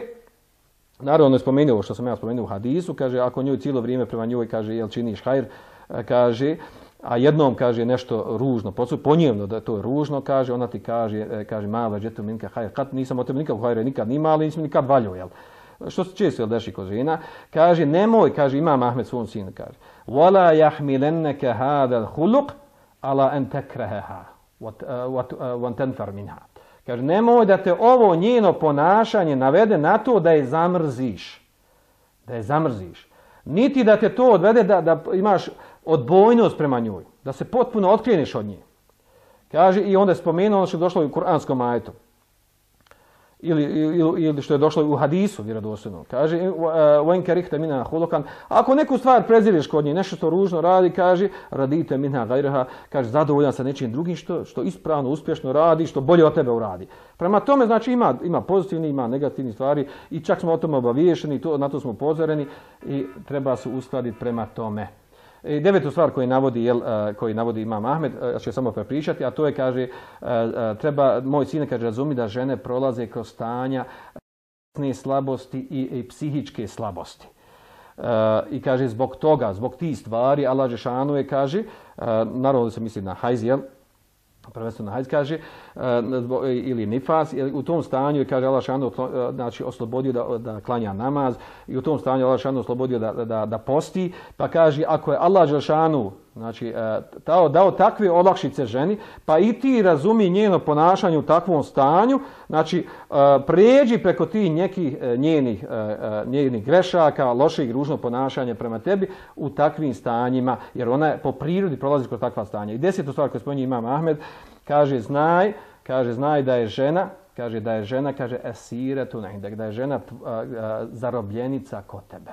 naravno je spomenuo ovo što sam ja spomenuo u hadisu, kaže ako njoj cijelo vrijeme prema njoj, kaže jel činiš hajr, e, kaže, a jednom kaže nešto ružno, ponjevno da to je ružno, kaže, ona ti kaže, kaže mala džetu minka hajr, kad nisam od tebe nikad hajra nikad nima, ali nisam nikad valio, jel? Što se često jel deši kod žena, kaže nemoj, kaže Imam Ahmed svom sinu, kaže wala yahmilannaka hada al-khuluq ala an takrahaha wa tanfar minha. Kaže nemoj da te ovo njeno ponašanje navede na to da je zamrziš. Da je zamrziš. Niti da te to odvede da, da imaš odbojnost prema njoj, da se potpuno otkrijeniš od nje. Kaže, i onda je spomenuo ono što je došlo u kuranskom ajetu. Ili, ili, ili što je došlo u hadisu vjerodostojnom. Kaže, وَإِنْ كَرِهْتَ مِنْهَا خُلُقًا. Ako neku stvar preziriš kod nje, nešto što ružno radi, kaže, radite minha gajreha, kaže, zadovoljan sa nečim drugim što, što ispravno, uspješno radi, što bolje od tebe uradi. Prema tome, znači, ima, ima pozitivni, ima negativni stvari i čak smo o tome obaviješeni, to, na to smo upozoreni i treba se uskladiti prema tome. I devetu stvar koju navodi, jel, koji navodi Imam Ahmed, ja ću samo prepričati, a to je, kaže, treba, moj sin kaže, razumi da žene prolaze kroz stanja slabosti i, i psihičke slabosti. I kaže, zbog toga, zbog tih stvari, Allah dželešanu je, kaže, naravno da se misli na hajz, jel, prvenstveno hajz, kaže, ili nifas, u tom stanju je, kaže, Allah dželešanu, znači, oslobodio da, da klanja namaz i u tom stanju Allah dželešanu oslobodio da, da, da posti, pa kaže, ako je Allah dželešanu Znači, dao, dao takve olakšice ženi, pa i ti razumi njeno ponašanje u takvom stanju, znači, pređi preko tih nekih njenih, njenih grešaka, lošeg ružnog ponašanja prema tebi u takvim stanjima, jer ona je po prirodi prolazi kroz takva stanja. I desetu stvar koju spominje Imam Ahmed, kaže, znaj, kaže, znaj da je žena, kaže, da je žena, kaže, esiretu nehindek, da je žena zarobljenica kod tebe.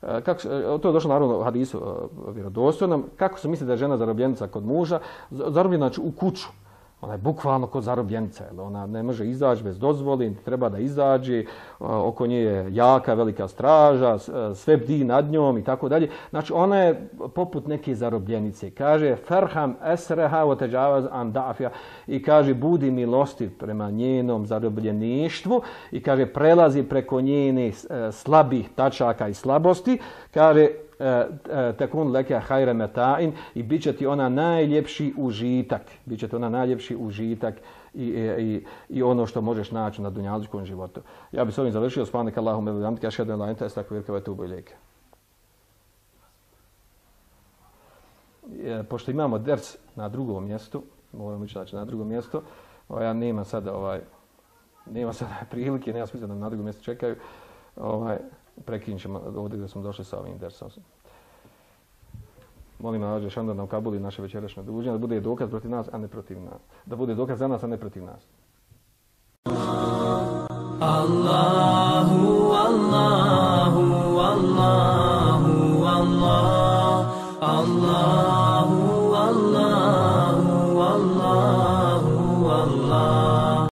Kako, to je došlo naravno u hadisu vjerodostojnom. Kako se misli da je žena zarobljenica kod muža? Zarobljena znači u kuću. Ona je bukvalno kod zarobljenica. Jel? Ona ne može izaći bez dozvoli, treba da izađe. Oko nje je jaka, velika straža, sve bdi nad njom i tako dalje. Znači ona je poput neke zarobljenice. Kaže Ferham esreha wa tajavaz an da'afija. I kaže budi milostiv prema njenom zarobljeništvu. I kaže prelazi preko njene slabih tačaka i slabosti. Kaže tekun leke hajre meta'in i bit će ti ona najljepši užitak. Bit će ti ona najljepši užitak i, i, i ono što možeš naći na dunjalučkom životu. Ja bih s ovim završio. Subhanaka Allahumma wa bihamdika ašhadu an la ilaha illa anta astaghfiruka wa atubu ilejk. Pošto imamo ders na drugom mjestu, moramo ići znači na drugom mjestu, ja nema sada ovaj nema sada prilike, nema smisla da na drugom mjestu čekaju. Ovaj prekinut ćemo ovdje gdje smo došli sa ovim dersom. Molim Allah dželle šanuhu da nam kabuli naše večerašnje druženje, da bude dokaz protiv nas, a ne protiv nas. Da bude dokaz za nas, a ne protiv nas. Allahu, Allahu, Allahu, Allah, Allahu.